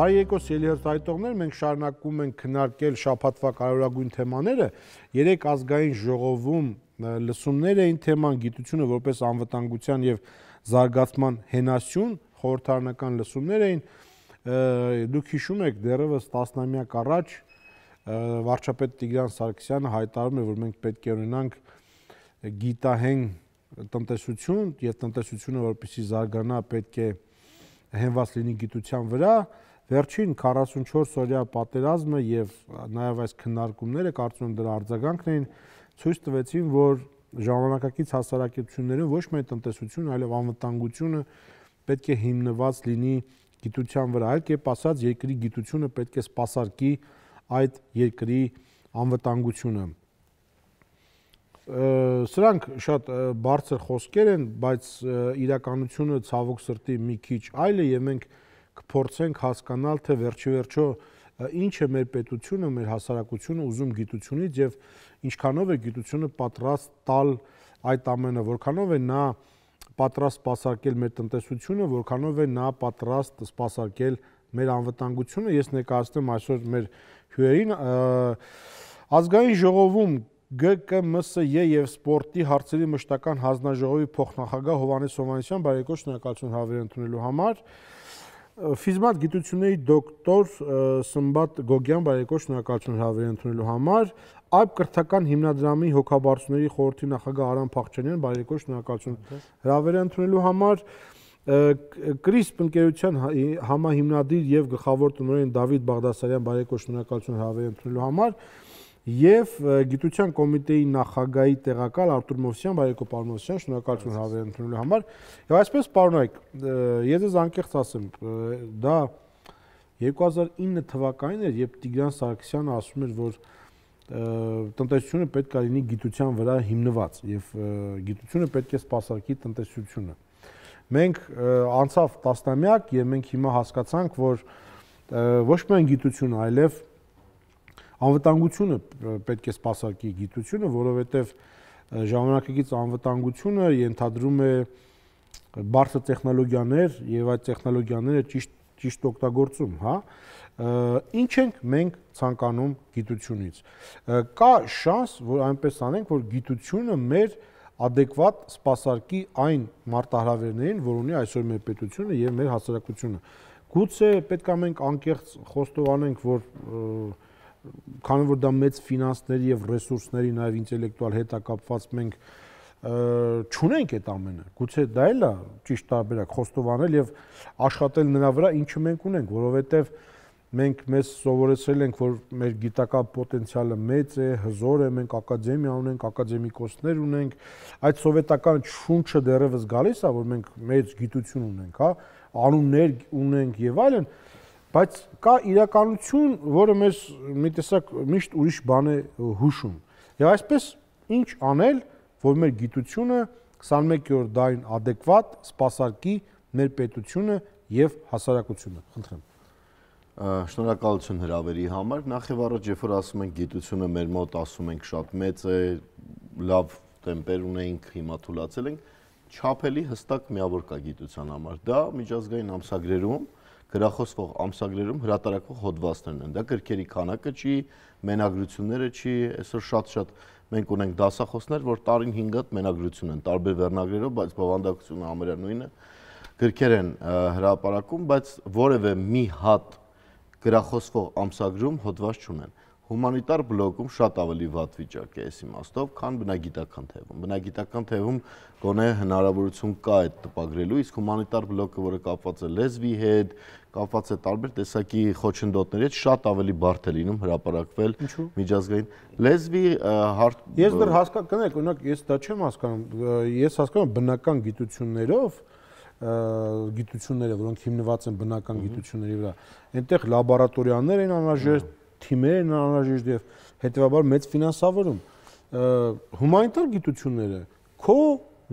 Բարի երկոս ելիհերթայտողներ, մենք շարունակում ենք քննարկել շաբաթվա կարևորագույն թեմաները։ Երեք ազգային ժողովում լսումներ էին թեման գիտությունը որպես անվտանգության եւ զարգացման հենասյուն, խորհրդարանական լսումներ էին։ Դուք հիշում եք, դեռևս 10-ամյակ առաջ վարչապետ Տիգրան Սարգսյանը հայտարարում էր, որ մենք պետք է ունենանք գիտահեն տնտեսություն եւ տնտեսությունը որպեսզի զարգանա պետք է հենված լինի գիտության վրա։ Վերջին 44 օրյա պատերազմը եւ նաեւ այս քննարկումները կարծում եմ դրա արձագանքն էին ցույց տվեցին, որ ժամանակակից հասարակություններում ոչ միայն տնտեսություն, այլև անվտանգությունը պետք է հիմնված լինի գիտության վրա, այլ կերպ ասած երկրի գիտությունը պետք է սպասարկի այդ երկրի անվտանգությունը։ Սրանք շատ բարձր խոսքեր են, բայց իրականությունը ցավոք սրտի մի քիչ այլ է եւ մենք կփորձենք հասկանալ, թե վերջիվերջո ինչ է մեր պետությունը, մեր հասարակությունը ուզում գիտությունից եւ ինչքանով է գիտությունը պատրաստ տալ այդ ամենը, որքանով է նա պատրաստ սպասարկել մեր տնտեսությունը, որքանով է նա պատրաստ սպասարկել մեր անվտանգությունը։ Ես ներկայացնեմ այսօր մեր հյուրերին ազգային ժողովում ԳԿՄՍԵ եւ սպորտի հարցերի մշտական հանձնաժողովի փոխնախագահ Հովհաննես Հովհաննիսյան, բարի եկոս, շնորհակալություն հավեր ընդունելու համար։ Ֆիզմատ գիտությունների դոկտոր Սմբատ Գոգյան, բարի եկոս, շնորհակալություն հավեր ընդունելու համար։ Այբ կրթական հիմնադրամի հոգաբարձուների խորհրդի նախագահ Արամ Փախչյանյան, բարի եկոս, շնորհակալություն հավեր ընդունելու համար։ Կրիսպ ընկերության համահիմնադիր եւ գլխավոր տնօրեն Դավիթ Բաղդասարյան, բարի եկոս, շնորհակալություն հավեր ընդունելու համար։ Եվ գիտության կոմիտեի նախագահի տեղակալ Արտուր Մովսյան, բարի եկոս, պարոն Մովսյան, շնորհակալություն հավեր ընդունելու համար։ Եվ այսպես պարոնայք, ես ձեզ անկեղծ ասեմ, դա 2009 թվականին էր, երբ Տիգրան Սարգսյանը ասում էր, որ տնտեսությունը պետք է լինի գիտության վրա հիմնված եւ գիտությունը պետք է սպասարկի տնտեսությունը։ Մենք անցավ տասնամյակ եւ մենք հիմա հասկացանք, որ ոչ միայն գիտությունը, այլև անվտանգությունը պետք է սպասարկի գիտությունը, որովհետև ժամանակակից անվտանգությունը ենթադրում է բարձր տեխնոլոգիաներ եւ այդ տեխնոլոգիաները ճիշտ օգտագործում, հա։ Ինչ ենք մենք ցանկանում գիտությունից։ Կա շանս, որ այնպես անենք, որ գիտությունը մեր adekvat սպասարկի այն մարտահրավերներին, որ ունի այսօր մեր պետությունը եւ մեր հասարակությունը։ Գուցե պետք է մենք անկեղծ խոստովանենք, որ քանի որ դա մեծ ֆինանսների եւ ռեսուրսների նաեւ ինտելեկտուալ հետակապված մենք չունենք այդ ամենը։ Գուցե դա էլ է ճիշտ տարբերակ խոստովանել եւ աշխատել նրա վրա, ինչը մենք ունենք, որովհետեւ մենք մեզ սովորեցրել ենք, որ մեր գիտական պոտենցիալը մեծ է, հզոր է, մենք ակադեմիա ունենք, ակադեմիկոսներ ունենք, այդ սովետական շունչը դեռևս գալիս է, որ մենք մեծ գիտություն ունենք, հա, անուններ ունենք եւ այլն, բայց կա իրականություն, որը մեզ մի տեսակ միշտ ուրիշ բան է հուշում։ Եվ այսպես ինչ անել, որ մեր գիտությունը 21-րդ դարին adekvat սպասարկի մեր պետությունը եւ հասարակությունը։ Խնդրեմ։ Շնորհակալություն հրավերի համար։ Նախ եւ առաջ, երբ որ ասում ենք գիտությունը մեր մոտ, ասում ենք շատ մեծ է, լավ տեմպեր ունենք, հիմա թուլացել ենք, չափելի հստակ միավոր կա գիտության համար։ Դա միջազգային ամսագրերում գրախոսվող ամսագրերում հրատարակվող հոդվածներն են։ Դա գրքերի քանակը չի, մենագրությունները չի, այսօր շատ մենք ունենք դասախոսներ, որ տարին 5 հատ մենագրություն են, տարբեր վերնագրերով, բայց բովանդակությունը համարյա նույնը։ Գրքեր են հրապարակում, բայց որևէ մի հատ գրախոսվող ամսագրում հոդված չունեն։ Հումանիտար բլոկում շատ ավելի վատ վիճակ է այս իմաստով, քան բնագիտական թևում։ Բնագիտական թևում գոնե հնարավորություն կա այդ տպագրելու, իսկ հումանիտար բլոկը, որը կապված է լեզվի հետ, կապված է տարբեր տեսակի խոչընդոտների հետ, շատ ավելի բարդ է լինում հրապարակվել միջազգային լեզվի Ես դեռ հասկանում, օրինակ, ես դա չեմ հասկանում, ես հասկանում եմ բնական գիտություններով, որոնք հիմնված են բնական գիտությունների վրա, այնտեղ լաբորատորիաներ են անհրաժեշտ, թիմեր են անհրաժեշտ եւ հետեւաբար մեծ ֆինանսավորում։ Հումանիտար գիտությունները քո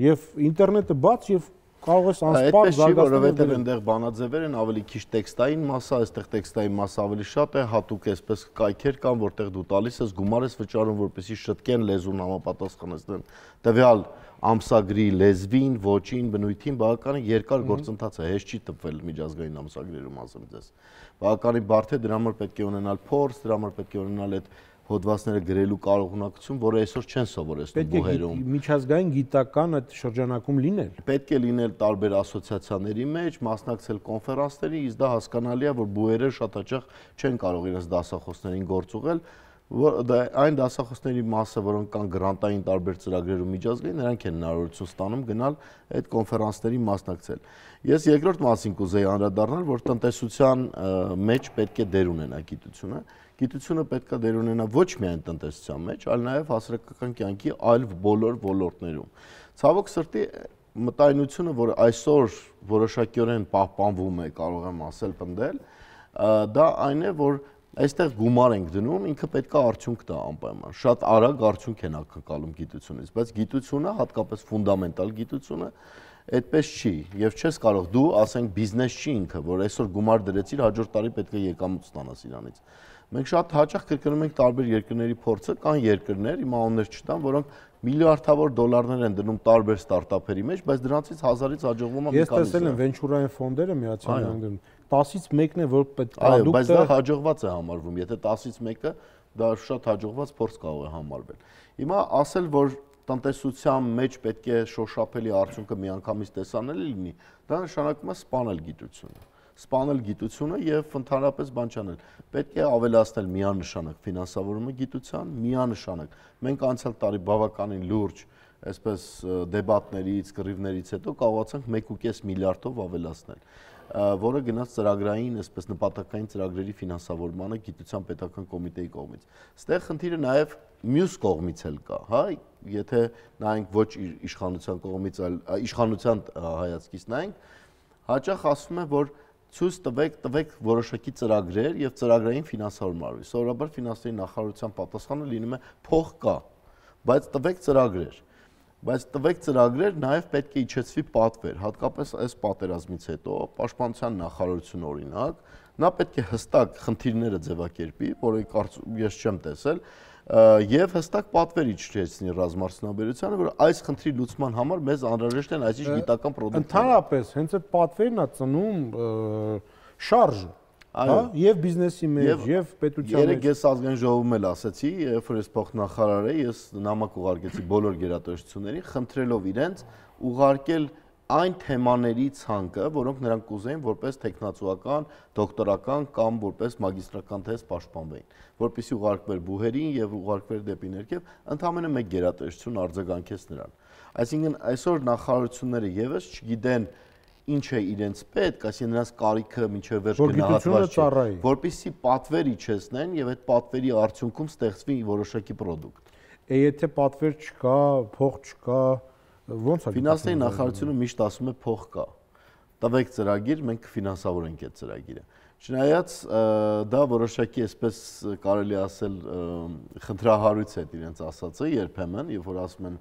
եւ ինտերնետը բաց եւ կարող ես անսպառ զարգացնել, որովհետև այնտեղ բանաձևեր են ավելի քիչ տեքստային մասսա, այստեղ տեքստային մասսա ավելի շատ է, հատուկ այսպես կայքեր կան, որտեղ դու տալիս ես գումար ես վճարում, որպեսզի շտկեն լեզուն համապատասխանեցնեն տվյալ ամսագրի լեզվին, ոճին, բնույթին, բավականին երկար գործընթաց է, հեշտ չի տպվել միջազգային ամսագրերում, ասեմ ձեզ։ Բավականին բարդ է, դրա համար պետք է ունենալ փորձ, դրա համար պետք է ունենալ այդ հոդվածները գրելու կարողունակություն, որը այսօր չեն սովորեցնում բուհերում։ Միջազգային գիտական այդ շրջանակում լինել։ Պետք է լինել տարբեր ասոցիացիաների մեջ, մասնակցել կոնֆերանսների, իսկ դա հասկանալի է, որ բուհերը շատ հաճախ չեն կարող իրենց դասախոսներին գործ ուղղել, այն դասախոսների մասը, որոնք կան գրանտային տարբեր ծրագրերում միջազգային, նրանք են հնարավորություն ստանում գնալ այդ կոնֆերանսների մասնակցել։ Ես երկրորդ մասին կուզեի անդրադառնալ, որ տնտեսության մեջ պետք է դեր ունենա գիտությունը։ Գիտությունը պետք է դեր ունենա ոչ միայն տնտեսության մեջ, այլ նաև հասարակական կյանքի այլ բոլոր ոլորտներում։ Ցավոք սրտի մտայնությունը, որ այսօր որոշակիորեն պահպանվում է, կարող եմ ասել, պնդել, դա այն է, որ այստեղ գումար ենք դնում, ինքը պետք է արդյունք տա անպայման։ Շատ արագ արդյունք են ակնկալում գիտությունից, բայց գիտությունը, հատկապես ֆունդամենտալ գիտությունը, այդպես չի, եւ չես կարող դու, ասենք, բիզնես չի ինքը, որ այսօր գումար դրեցիր, հաջորդ տարի պետք է եկամուտ ստանաս իրանից։ Մենք շատ հաճախ կրկնում ենք տարբեր երկրների փորձը, կան երկրներ, իմ անուններ չտամ, որոնք միլիարդավոր դոլարներ են դնում տարբեր ստարտափերի մեջ, բայց դրանցից 1000-ից հաջողվում է մի քանի։ Ես տեսել եմ վենչուրային ֆոնդերը Միացյալ Նահանգներում 10-ից 1-ն է, որ պետք է պրոդուկտը, բայց դա հաջողված է համարվում, եթե 10-ից 1-ը դա շատ հաջողված փորձ կարող է համարվել։ Հիմա ասել, որ տնտեսության մեջ պետք է շոշափելի արդյունքը միանգամից տեսանելի լինի, դա նշանակում է սպանել գիտությունը։ Սպանել գիտությունը եւ ընդհանրապես բան չանել։ Պետք է ավելացնել միանշանակ ֆինանսավորումը գիտության, միանշանակ։ Մենք անցյալ տարի բավականին լուրջ, այսպես դեբատներից, կռիվներից հետո կարողացանք 1.5 միլիարդով ավելացնել, որը գնաց ծրագրային, այսպես նպատակային ծրագրերի ֆինանսավորմանը գիտության պետական կոմիտեի կողմից։ Ստեղ խնդիրը նաեւ մյուս կողմից էլ կա, հա, եթե նայենք ոչ իշխանության կողմից, այլ իշխանության հայացքից նայենք, հաճախ ասում է, որ ցույց տվեք որոշակի ծրագրեր եւ ծրագրային ֆինանսավորում արվի։ Սովորաբար ֆինանսների նախարարության պատասխանը լինում է փող կա, բայց տվեք ծրագրեր։ Բայց տվեք ծրագրեր նաև պետք է իջեցվի պատվեր, հատկապես այս պատերազմից հետո պաշտպանության նախարարությունը օրինակ, նա պետք է հստակ խնդիրները ձևակերպի, որը ես չեմ տեսել, եւ հստակ պատվեր իջեցնի ռազմարդյունաբերությանը, որ այս խնդրի լուծման համար մեզ անհրաժեշտ են այսիշ գիտական պրոդուկտներ։ Ընդհանրապես, հենց այդ պատվերն է ծնում շարժ, հա, եւ բիզնեսի մեջ, եւ պետության մեջ։ Երեք ես ազգային ժողովում էլ ասացի, երբ որ ես փոխնախարար էի, ես նամակ ուղարկեցի բոլոր գերատեսչություններին, խնդրելով իրենց ուղարկել այն թեմաների ցանկը, որոնք նրանք կուզեին որպես տեխնացուական, դոկտորական կամ որպես մագիստրական թեզ պաշտպանվեին, որպեսզի ուղարկվեր բուհերին եւ ուղարկվեր դեպի ներքև, ընդամենը մեկ գերատեսչություն արձագանքեց նրան։ Այսինքն այսօր նախարարությունները եւս չգիտեն ինչ է իրենց պետք, այսինքն նրանց կարիքը մինչև վերջ գնահատված չէ, որպեսզի պատվեր իջեցնեն եւ այդ պատվերի արդյունքում ստեղծվի որոշակի պրոդուկտ։ Եթե պատվեր չկա, փող չկա, ո՞նց է։ Ֆինանսների նախարարությունը միշտ ասում է փող կա։ Տվեք ծրագիր, մենք կֆինանսավորենք այդ ծրագիրը։ Չնայած դա որոշակի այսպես կարելի ասել խնդրահարույց է իրենց ասածը երբեմն, երբ որ ասում են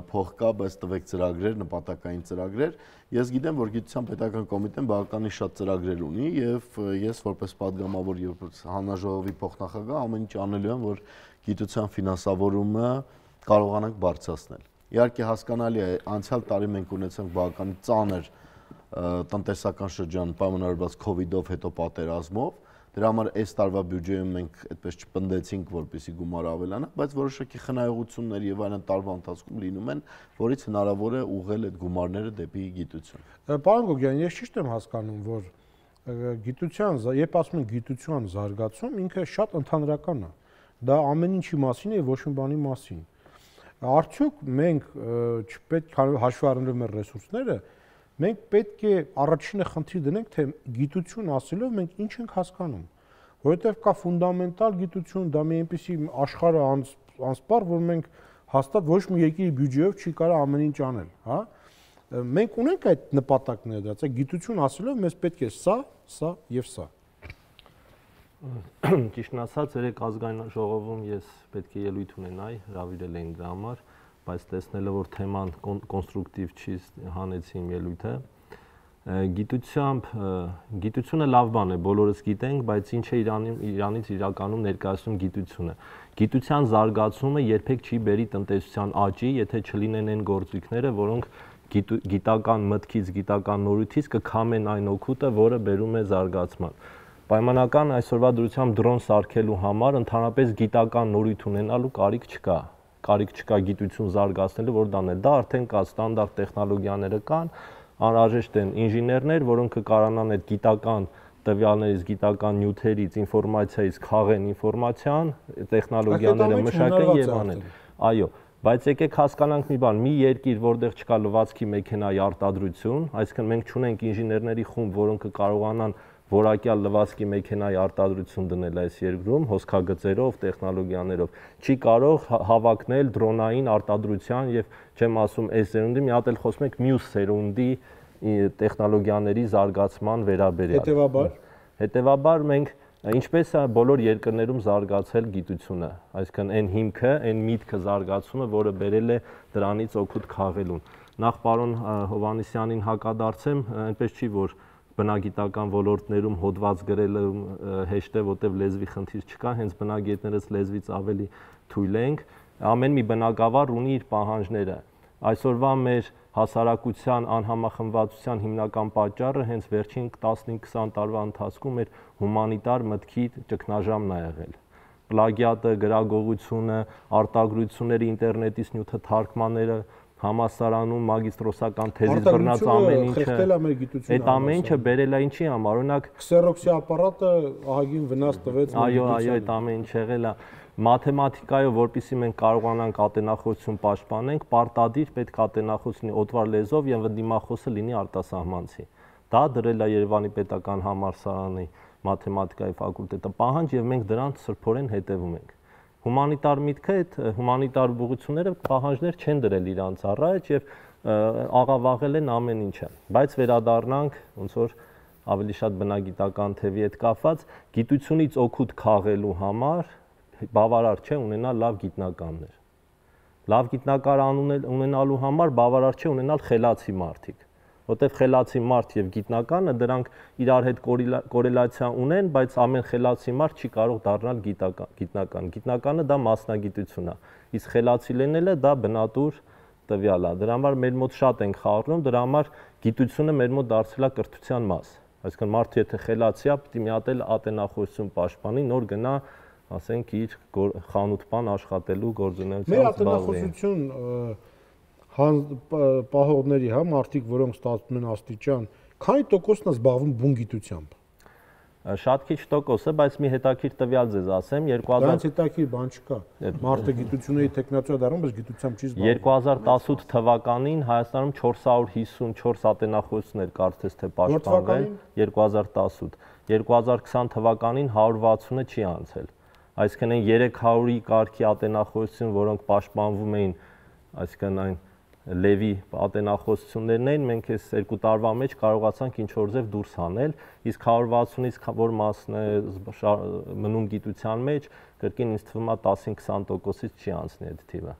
փող կա, բայց տվեք ծրագրեր, նպատակային ծրագրեր։ Ես գիտեմ, որ գիտության պետական կոմիտեն բավականին շատ ծրագրեր ունի եւ ես որպես падգամավոր եւ հանրաժողովի փոխնախագահ ամեն ինչ անելու եմ, որ գիտության ֆինանսավորումը կարողանանք բարձրացնել։ Իհարկե հասկանալի է, անցյալ տարի մենք ունեցանք բավականին ծանր տնտեսական շրջան պայմանավորված COVID-ով հետո պատերազմով, դրա համար այս տարվա բյուջեում մենք այդպես չպնդեցինք, որպեսզի գումարը ավելանա, բայց որոշակի խնայողություններ եւ այլն տարվա ընթացքում լինում են, որից հնարավոր է ուղղել այդ գումարները դեպի գիտություն։ Պարոն Գոգյան, ես ճիշտ եմ հասկանում, որ գիտության, երբ ասում են գիտության զարգացում, ինքը շատ ընդհանրական է։ Դա ամեն ինչի մասին է, ոչ մի բանի մասին։ Արդյոք մենք չպետք է հաշվի առնելով մեր ռեսուրսները, մենք պետք է առաջինը խնդիր դնենք, թե գիտություն ասելով մենք ինչ ենք հասկանում, որովհետև կա ֆունդամենտալ գիտություն, դա մի այնպիսի աշխարհը անսպառ, որ մենք հաստատ ոչ մի երկրի բյուջեով չի կարող ամեն ինչ անել, հա։ Մենք ունենք այդ նպատակները դրած, գիտություն ասելով մեզ պետք է սա եւ սա։ Ճիշտն ասած, երեք ազգային ժողովում ես պետք է ելույթ ունենայի, հրավիրել էին դրա համար, բայց տեսնելով որ թեման կոնստրուկտիվ չի հանեցի իմ ելույթը։ Գիտությունը լավ բան է, բոլորս գիտենք, բայց ինչ է Իրանից իրականում ներկայացնում գիտությունը։ Գիտության զարգացումը երբեք չի բերի տնտեսության աճի, եթե չլինեն այն գործիքները, որոնք գիտական մտքից, գիտական նորույթից կքամեն այն օգուտը, որը բերում է զարգացման։ Պայմանական այսօրվա դրությամբ դրոն սարքելու համար ընդհանրապես գիտական նորույթ ունենալու կարիք չկա։ Կարիք չկա գիտություն զարգացնելու, որ դանել։ Դա արդեն կա, ստանդարտ տեխնոլոգիաները կան, անհրաժեշտ են ինժեներներ, որոնք կկարանան այդ գիտական տվյալներից, գիտական նյութերից, ինֆորմացիայից քաղեն ինֆորմացիան, տեխնոլոգիաները մշակեն եւ անեն։ Այո, բայց եկեք հասկանանք մի բան, մի երկիր, որտեղ չկա լվացքի մեքենայի արտադրություն, այսինքն մենք չունենք ինժեներների խումբ, որոնք կկարողանան որակյալ լվացքի մեքենայի արտադրություն դնել այս երկրում, հոսքագծերով, տեխնոլոգիաներով, չի կարող հավակնել դրոնային արտադրության եւ չեմ ասում այս սերունդի, մի հատ էլ խոսում ենք մյուս սերունդի տեխնոլոգիաների զարգացման վերաբերյալ։ Հետևաբար մենք ինչպես է բոլոր երկրներում զարգացել գիտությունը, այսինքն այն հիմքը, այն միտքը զարգացումը, որը բերել է դրանից օգուտ քաղելուն։ Նախ պարոն Հովհաննիսյանին հակադարձեմ, այնպես չի որ բնագիտական ոլորտներում հոդված գրելը հեշտ է, որտեղ լեզվի խնդիր չկա, հենց բնագետներս լեզվից ավելի թույլ ենք, ամեն մի բնագավառ ունի իր պահանջները։ Այսօրվա մեր հասարակության անհամախմբվածության հիմնական պատճառը հենց վերջին 15-20 տարվա ընթացքում մեր հումանիտար մտքի ճգնաժամն է եղել։ Պլագիատը, գրագողությունը, արտագրությունները, ինտերնետից նյութը թարգմանները, համալսարանում մագիստրոսական թեզից բռնած ամեն ինչը, այդ ամեն ինչը բերել է ինչի համար, օրինակ քսերոքսի ապարատը ահագին վնաս տվեց։ Այո, այդ ամեն ինչ եղել է։ Մաթեմատիկայով, որպեսզի մենք կարողանանք ատենախոսություն պաշտպանենք, պարտադիր պետք է ատենախոս լինի օտվար լեզվով եւ դիմախոսը լինի արտասահմանցի։ Դա դրել է Երևանի պետական համալսարանի մաթեմատիկայի ֆակուլտետը պահանջ եւ մենք դրան սրբորեն հետևում ենք։ Հումանիտար միտքը, այդ հումանիտար ուղղությունները պահանջներ չեն դրել իրանց առաջ եւ աղավաղել են ամեն ինչը։ Բայց վերադառնանք ոնց որ ավելի շատ բնագիտական թևի հետ կապված, գիտությունից օգուտ քաղելու համար բավարար չէ ունենալ լավ գիտնականներ։ Լավ գիտնական ունենալու համար բավարար չէ ունենալ խելացի մարդիկ, որտեղ խելացի մարդ եւ գիտնականը դրանք իրար հետ կորելացիա ունեն, բայց ամեն խելացի մարդ չի կարող դառնալ գիտնական։ Գիտնականը դա մասնագիտություն է, իսկ խելացի լինելը դա բնատուր տվյալ է։ Դրա համար մեր մոտ շատ ենք խառնում, դրա համար գիտությունը մեր մոտ դարձել է կրթության մաս։ Այսինքն մարդը եթե խելացի է, պետք է մի հատ էլ ատենախոսություն պաշտպանի, նոր գնա ասենք իր խանութ-պան աշխատելու գործունեությամբ զբաղվի։ Մեր ատենախոսություն պահողների, մարդիկ, որոնք ստացվում են աստիճան, քանի տոկոսն է զբաղվում բուն գիտությամբ։ Շատ քիչ տոկոս է, բայց մի հետաքրքիր տվյալ ձեզ ասեմ, 2000 Դրանց հետաքրքիր բան չկա։ Մարդը գիտությունների տեխնացիա դառնում, բայց գիտությամբ չի զբաղվում։ 2018 թվականին Հայաստանում 454 ատենախոսներ կարծես թե պաշտպանվել, 2018, 2020 թվականին 160-ը չի անցել։ Այսինքն այն 300-ի կարգի ատենախոսություն, որոնք պաշտպանվում էին, այսինքն այն լևի ատենախոսություններն էին, մենք այս 2 տարվա մեջ կարողացանք ինչ-որ ձև դուրս հանել, իսկ 160-ից որ մասն է մնում գիտության մեջ, կրկին ինձ թվում է 10-20%-ից չի անցնի այդ թիվը։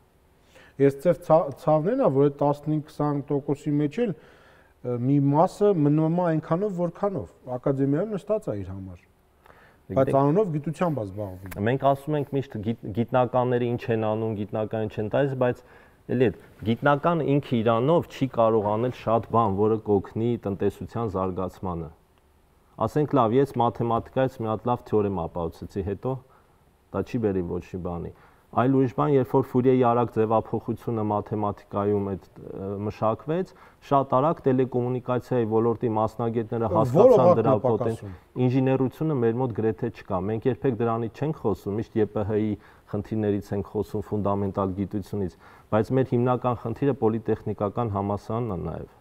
Ես ձև ցավն է, որ այդ 15-20%-ի մեջ էլ մի մասը մնում է այնքանով, որքանով ակադեմիայում նստած է իր համար։ Բայց անունով գիտությամբ է զբաղվում։ Մենք ասում ենք միշտ գիտնականները ինչ են անում, գիտնական չեն տալիս, բայց էլի այդ գիտնական ինքը իրանով չի կարող անել շատ բան, որը կօգնի տնտեսության զարգացմանը։ Ասենք լավ, ես մաթեմատիկայից մի հատ լավ թեորեմ ապահովեցի, հետո դա չի բերի ոչ մի բանի։ Այլ ուրիշ բան, երբ որ Ֆուրիեի արագ ձևափոխությունը մաթեմատիկայում այդ մշակվեց, շատ արագ տելեկոմունիկացիայի ոլորտի մասնագետները հասկացան դրա պոտենցիալը։ Ինժեներությունը մեր մոտ գրեթե չկա։ Մենք երբեք դրանից չենք խոսում, միշտ ԵՊՀ-ի խնդիրներից ենք խոսում, ֆունդամենտալ գիտությունից, բայց մեր հիմնական խնդիրը պոլիտեխնիկական համալսարանն է նաև։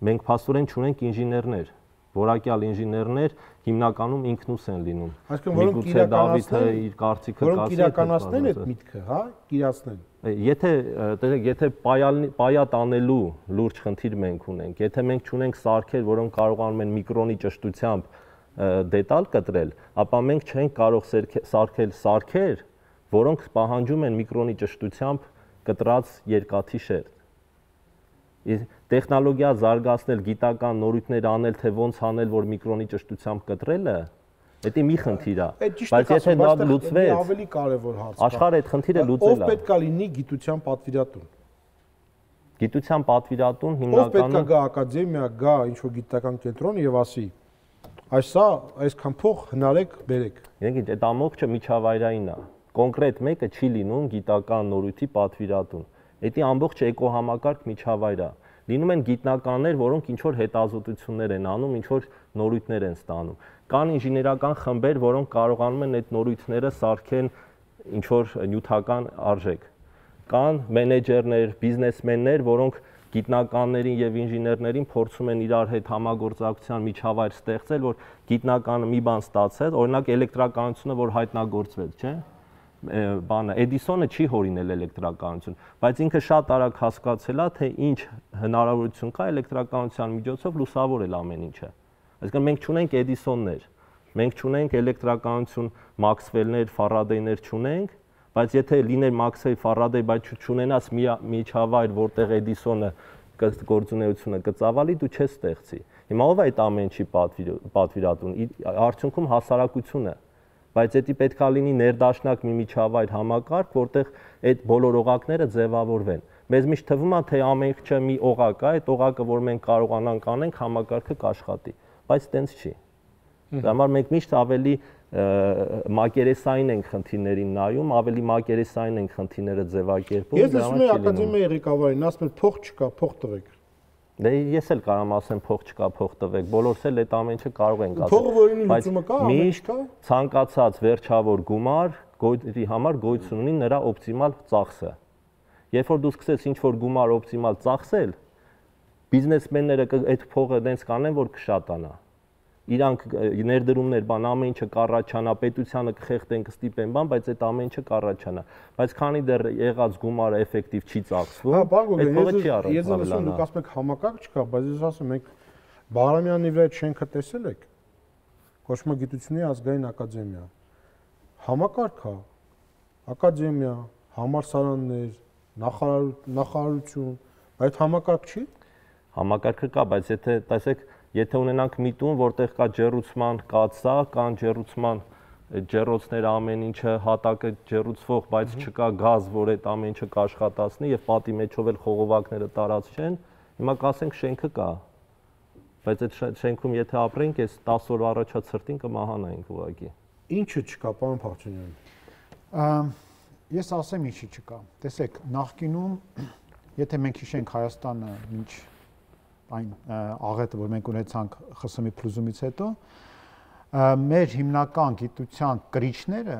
Մենք փաստորեն չունենք ինժեներներ, որակյալ ինժեներներ հիմնականում ինքնուս են լինում։ Միգուցե Դավիթը իր կարծիքը կիրականացնեն այդ միտքը, հա, իրացնեն։ Եթե պայա տանելու լուրջ խնդիր մենք ունենք, եթե մենք չունենք սարքեր, որոնք կարողանում են միկրոնի ճշտությամբ դետալ կտրել, ապա մենք չենք կարող սարքել սարքեր, որոնք պահանջում են միկրոնի ճշտությամբ կտրած երկաթի շերտ։ Տեխնոլոգիա զարգացնել, գիտական նորույթներ անել, թե ոնց անել, որ միկրոնի ճշտությամբ կտրելը, դա մի խնդիր է։ Բայց եթե դա լուծվեց, ավելի կարևոր հարց է։ Աշխարհը այդ խնդիրը լուծել է։ Ով պետք է լինի գիտության պատվիրատուն։ Գիտության պատվիրատուն հիմնականում ով պետք է գա ակադեմիա, գա ինչ-որ գիտական կենտրոն եւ ասի այսքան փող հնարեք, բերեք։ Իրենք այդ ամբողջը միջավայրային է։ Կոնկրետ մեկը չի լինում գիտական նորույթի պատվիրատուն։ Դա ամբողջ էկոհամակարգ միջավայր է։ Լինում են գիտնականներ, որոնք ինչ որ հետազոտություններ են անում, ինչ որ նորույթներ են ստանում։ Կան ինժեներական խմբեր, որոնք կարողանում են այդ նորույթները սարքեն ինչ որ նյութական արժեք։ Կան մենեջերներ, բիզնեսմեններ, որոնք գիտնականներին եւ ինժեներներին փորձում են իրար հետ համագործակցության միջավայր ստեղծել, որ գիտնականը մի բան ստացել, օրինակ էլեկտրականությունը, որ հայտնագործվեց, չէ՞։ Էդիսոնը չի հորինել էլեկտրականություն, բայց ինքը շատ արագ հասկացել է, թե ինչ հնարավորություն կա էլեկտրականության միջոցով լուսավորել ամեն ինչը։ Այսինքն մենք չունենք Էդիսոններ, մենք չունենք էլեկտրականություն Մաքսվելներ, Ֆարադեյներ չունենք, բայց եթե լիներ Մաքսվել, Ֆարադեյ, բայց չունենաս մի միջավայր, որտեղ Էդիսոնը գործունեությունը կծավալի, դու չես ստեղծի։ Հիմա ով է այդ ամեն ինչի պատվիրատուն, արդյունքում հասարակությունը, բայց դա պետք է լինի ներդաշնակ մի միջավայր համակարգ, որտեղ այդ բոլոր օղակները ձևավորվեն։ Մեզ միշտ թվում է, թե ամեն ինչը մի օղակ է, այդ օղակը, որ մենք կարողանանք անենք, համակարգը կաշխատի, բայց տենց չի։ Դա համար մենք միշտ ավելի մակերեսային ենք խնդիրներին նայում, ավելի մակերեսային ենք խնդիրները ձևակերպում։ Ես լսում եմ ակադեմիայի ղեկավարին, ասում են փող չկա, փող տվեք։ Դե ես էլ կարամ ասեմ փող չկա, փող տվեք, բոլորս էլ այդ ամեն ինչը կարող ենք ասել։ Փողը որին լուծումը կա, միշտ ցանկացած վերջավոր գումար գույքի համար գոյություն ունի նրա օպտիմալ ծախսը։ Երբ որ դու սկսես ինչ-որ գումար օպտիմալ ծախսել, բիզնեսմենները այդ փողը դենց կանեն, որ կշատանա։ Իրանք ներդրումներ, բան ամեն ինչը կառաջանա, պետությանը կխեղդեն, կստիպեն, բան, բայց այդ ամեն ինչը կառաջանա։ Բայց քանի դեռ եղած գումարը էֆեկտիվ չի ծախսվում, այդ փողը չի առանց։ Ես ասում դուք ասում եք համակարգ չկա, բայց ես ասում ենք Բաղրամյանի վրա այդ շենքը տեսել եք։ Կոչվում է Գիտությունների ազգային ակադեմիա։ Համակարգ է։ Ակադեմիա, համալսարաններ, նախարարություն, այդ համակարգ չի։ Համակարգը կա, բայց եթե տեսեք Եթե ունենանք միտում, որտեղ կա ջեռուցման կաթսա, կան ջեռուցման ջեռոցները ամեն ինչը հատակը ջեռուցվող, բայց չկա գազ, որ այդ ամեն ինչը կաշխատացնի եւ պատի մեջով էլ խողովակները տարածվեն, հիմա կասենք շենքը կա։ Բայց այդ շենքում եթե ապրենք, այս 10 օր առաջա ցրտին կմահանայինք ուղղակի։ Ինչը չկա, պարոն Փախչյանյան։ Ես ասեմ ինչի չկա։ Տեսեք, նախկինում եթե մենք հիշենք Հայաստանը ինչ այն աղետը, որ մենք ունեցանք ԽՍՀՄ փլուզումից հետո, մեր հիմնական գիտության կրիչները,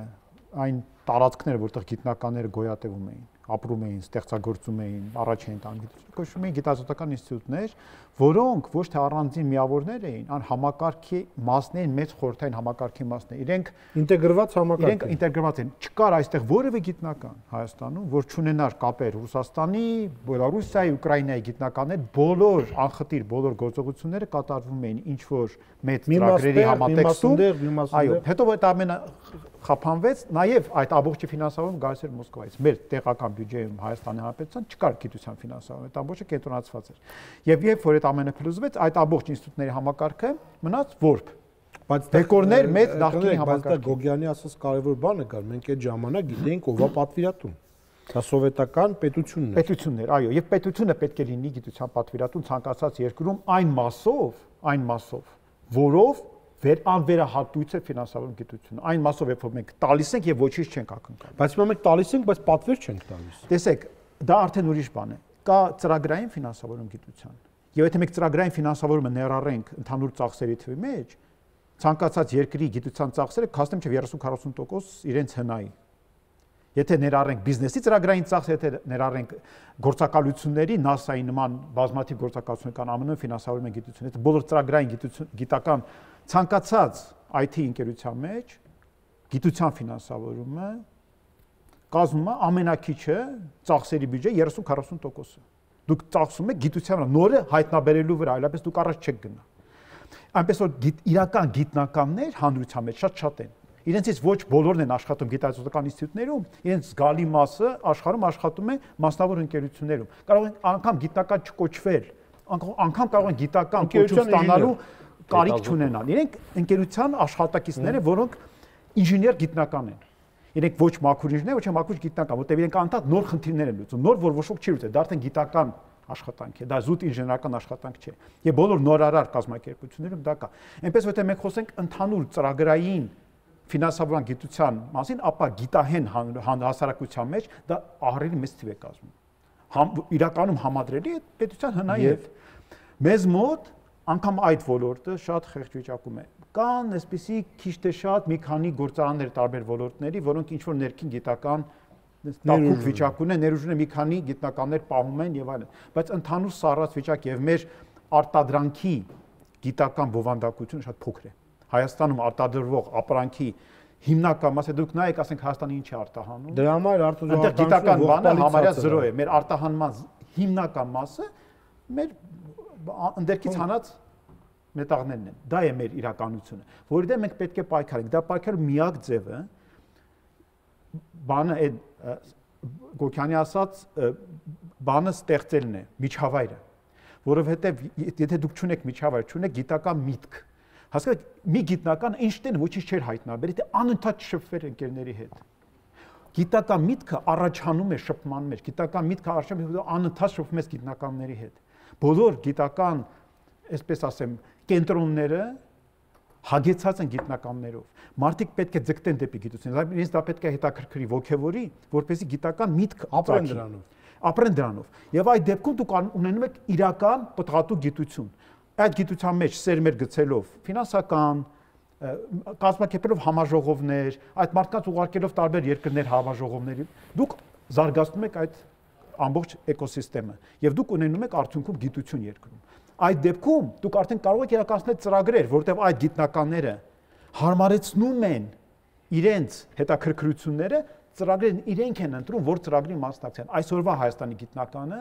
այն տարածքները, որտեղ գիտնականները գոյատևում էին, ապրում էին, ստեղծագործում էին, առաջին տան գիտությունը, կոչվում էին գիտազոտական ինստիտուտներ, որոնք ոչ թե առանձին միավորներ էին, այլ համակարգի մասն էին, մեծ խորհրդային համակարգի մասն էին։ Իրենք ինտեգրված համակարգ են։ Իրենք ինտեգրված են։ Չկար այստեղ որևէ գիտնական Հայաստանում, որ չունենար կապեր Ռուսաստանի, Բելարուսիայի, Ուկրաինայի գիտնականներ, բոլոր անխտիր բոլոր գործողությունները կատարվում էին ինչ որ մեծ ծրագրերի համատեքստում։ Այո, հետո այդ ամենը խափանվեց, նաև այդ ամբողջի ֆինանսավորումը գալիս էր Մոսկվայից։ Մեր տեղական բյուջեում Հայաստանի Հանրապետության չկար գիտության ֆինանսավորում, այդ ամբողջը կենտրոնացված էր։ Եվ երբ որ այդ ամենը փլուզվեց, այդ ամբողջ ինստիտուտների համակարգը մնաց որբ։ Բայց դեկորներ մեծ նախկինի համակարգ։ Բայց դա Գոգյանի ասած կարևոր բանը կար, մենք այդ ժամանակ գիտեինք ով է պատվիրատուն։ Դա սովետական պետությունն էր։ Պետություններ, այո, եւ պետությունը պետք է լինի գիտության պատվիրատուն ցանկացած երկրում այն մասով, որով անվերահատույց է ֆինանսավորում գիտությունը։ Այն մասով, երբ մենք տալիս ենք եւ ոչինչ չենք ակնկալում։ Բայց հիմա մենք տալիս ենք, բայց պատվեր չենք տալիս։ Տեսեք, դա արդեն ուրիշ բան է։ Կա ծրագրային ֆինանսավորում գիտության։ Եվ եթե մենք ծրագրային ֆինանսավորումը ներառենք ընդհանուր ծախսերի թվի մեջ, ցանկացած երկրի գիտության ծախսերը կհասնեն մինչև 30-40% իրենց հնայի։ Եթե ներառենք բիզնեսի ծրագրային ծախս, եթե ներառենք գործակալությունների, NASA-ի նման բազմաթիվ գործակալություններ կան, ԱՄՆ-ը ֆինանսավորում է գիտությունը, եթե բոլոր ծրագրային գիտական ցանկացած IT ընկերության մեջ գիտության ֆինանսավորումը կազմում է ամենակիչը ծախսերի բյուջեի 30-40%-ը։ Դուք ծախսում եք գիտության վրա, նորը հայտնաբերելու վրա, այլապես դուք առաջ չեք գնա։ Այնպես որ իրական գիտնականներ հանրության մեջ շատ են։ իրենցից ոչ բոլորն են աշխատում գիտահետազոտական ինստիտուտներում, իրենց զգալի մասը աշխարհում աշխատում է մասնավոր ընկերություններում։ Կարող են անգամ գիտական չկոչվել, անգամ կարող են գիտական կոչում ստանալու կարիք չունենալ։ Իրենք ընկերության աշխատակիցներ են, որոնք ինժեներ գիտնական են։ Իրենք ոչ մաքուր ինժեներ, ոչ մաքուր գիտնական, որտեղ իրենք անդադ նոր խնդիրներ են լուծում, նոր որ ոչ ոք չի լուծել, դա արդեն գիտական աշխատանք է, դա զուտ ինժեներական աշխատանք չէ։ Եվ բոլոր նորարար կազմակերպություններում դա կա։ Այնպես որ մենք խոսենք ընդհանուր ծրագրային ֆինանսավորման գիտության մասին, ապա գիտահեն հասարակության մեջ դա ահռելի մեծ թիվ է կազմում։ Իրականում համադրելի է պետության հնայև։ Մեզ մոտ անգամ այդ ոլորտը շատ խեղճ վիճակում է։ Կան այսպիսի քիչ թե շատ մի քանի գործարաններ տարբեր ոլորտների, որոնք ինչ որ ներքին գիտական տակուկ վիճակ ունեն, ներուժ ունեն մի քանի գիտնականներ պահում են եւ այլն, բայց ընդհանուր սառած վիճակ եւ մեր արտադրանքի գիտական բովանդակությունը շատ փոքր է։ Հայաստանում արտադրվող ապրանքի հիմնական մասը դուք նայեք, ասենք Հայաստանը ինչ է արտահանում։ Դրա համար արտադրողական գիտական բանը համարյա 0 է։ Մեր արտահանման հիմնական մասը մեր ընդերքից հանած մետաղներն են։ Դա է մեր իրականությունը, որի դեմ մենք պետք է պայքարենք։ Դա պայքարելու միակ ձևը բանը այդ Գոքյանի ասած բանը ստեղծելն է, միջավայրը, որովհետև եթե դուք չունեք միջավայր, չունեք գիտական միտք, հասկացեք, մի գիտնական Էյնշտեյնը ոչինչ չէր հայտնաբերել, եթե անընդհատ շփվեր ընկերների հետ։ Գիտական միտքը առաջանում է շփման մեջ, գիտական միտքը առաջանում է անընդհատ շփվում ես գիտնականների հետ։ Բոլոր գիտական, այսպես ասեմ, կենտրոնները հագեցած են գիտնականներով։ Մարդիկ պետք է ձգտեն դեպի գիտությունը, իրենց դա պետք է հետաքրքրի, ոգևորի, որպեսզի գիտական միտք ապրեն դրանով։ Ապրեն դրանով։ Եվ այդ դեպքում դուք ունենում եք իրական պտղատու գիտություն։ Այդ գիտության մեջ սերմեր գցելով, ֆինանսական, կազմակերպելով համաժողովներ, այդ մարդկանց ուղարկելով տարբեր երկրներ համաժողովների, դուք զարգացնում եք այդ ամբողջ էկոսիստեմը եւ դուք ունենում եք արդյունքում գիտություն երկրում։ Այդ դեպքում դուք արդեն կարող եք իրականացնել ծրագրեր, որտեղ այդ գիտնականները հարմարեցնում են իրենց հետաքրքրությունները, ծրագրերն իրենք են ընտրում, որ ծրագրի մասնակցեն։ Այսօրվա Հայաստանի գիտնականը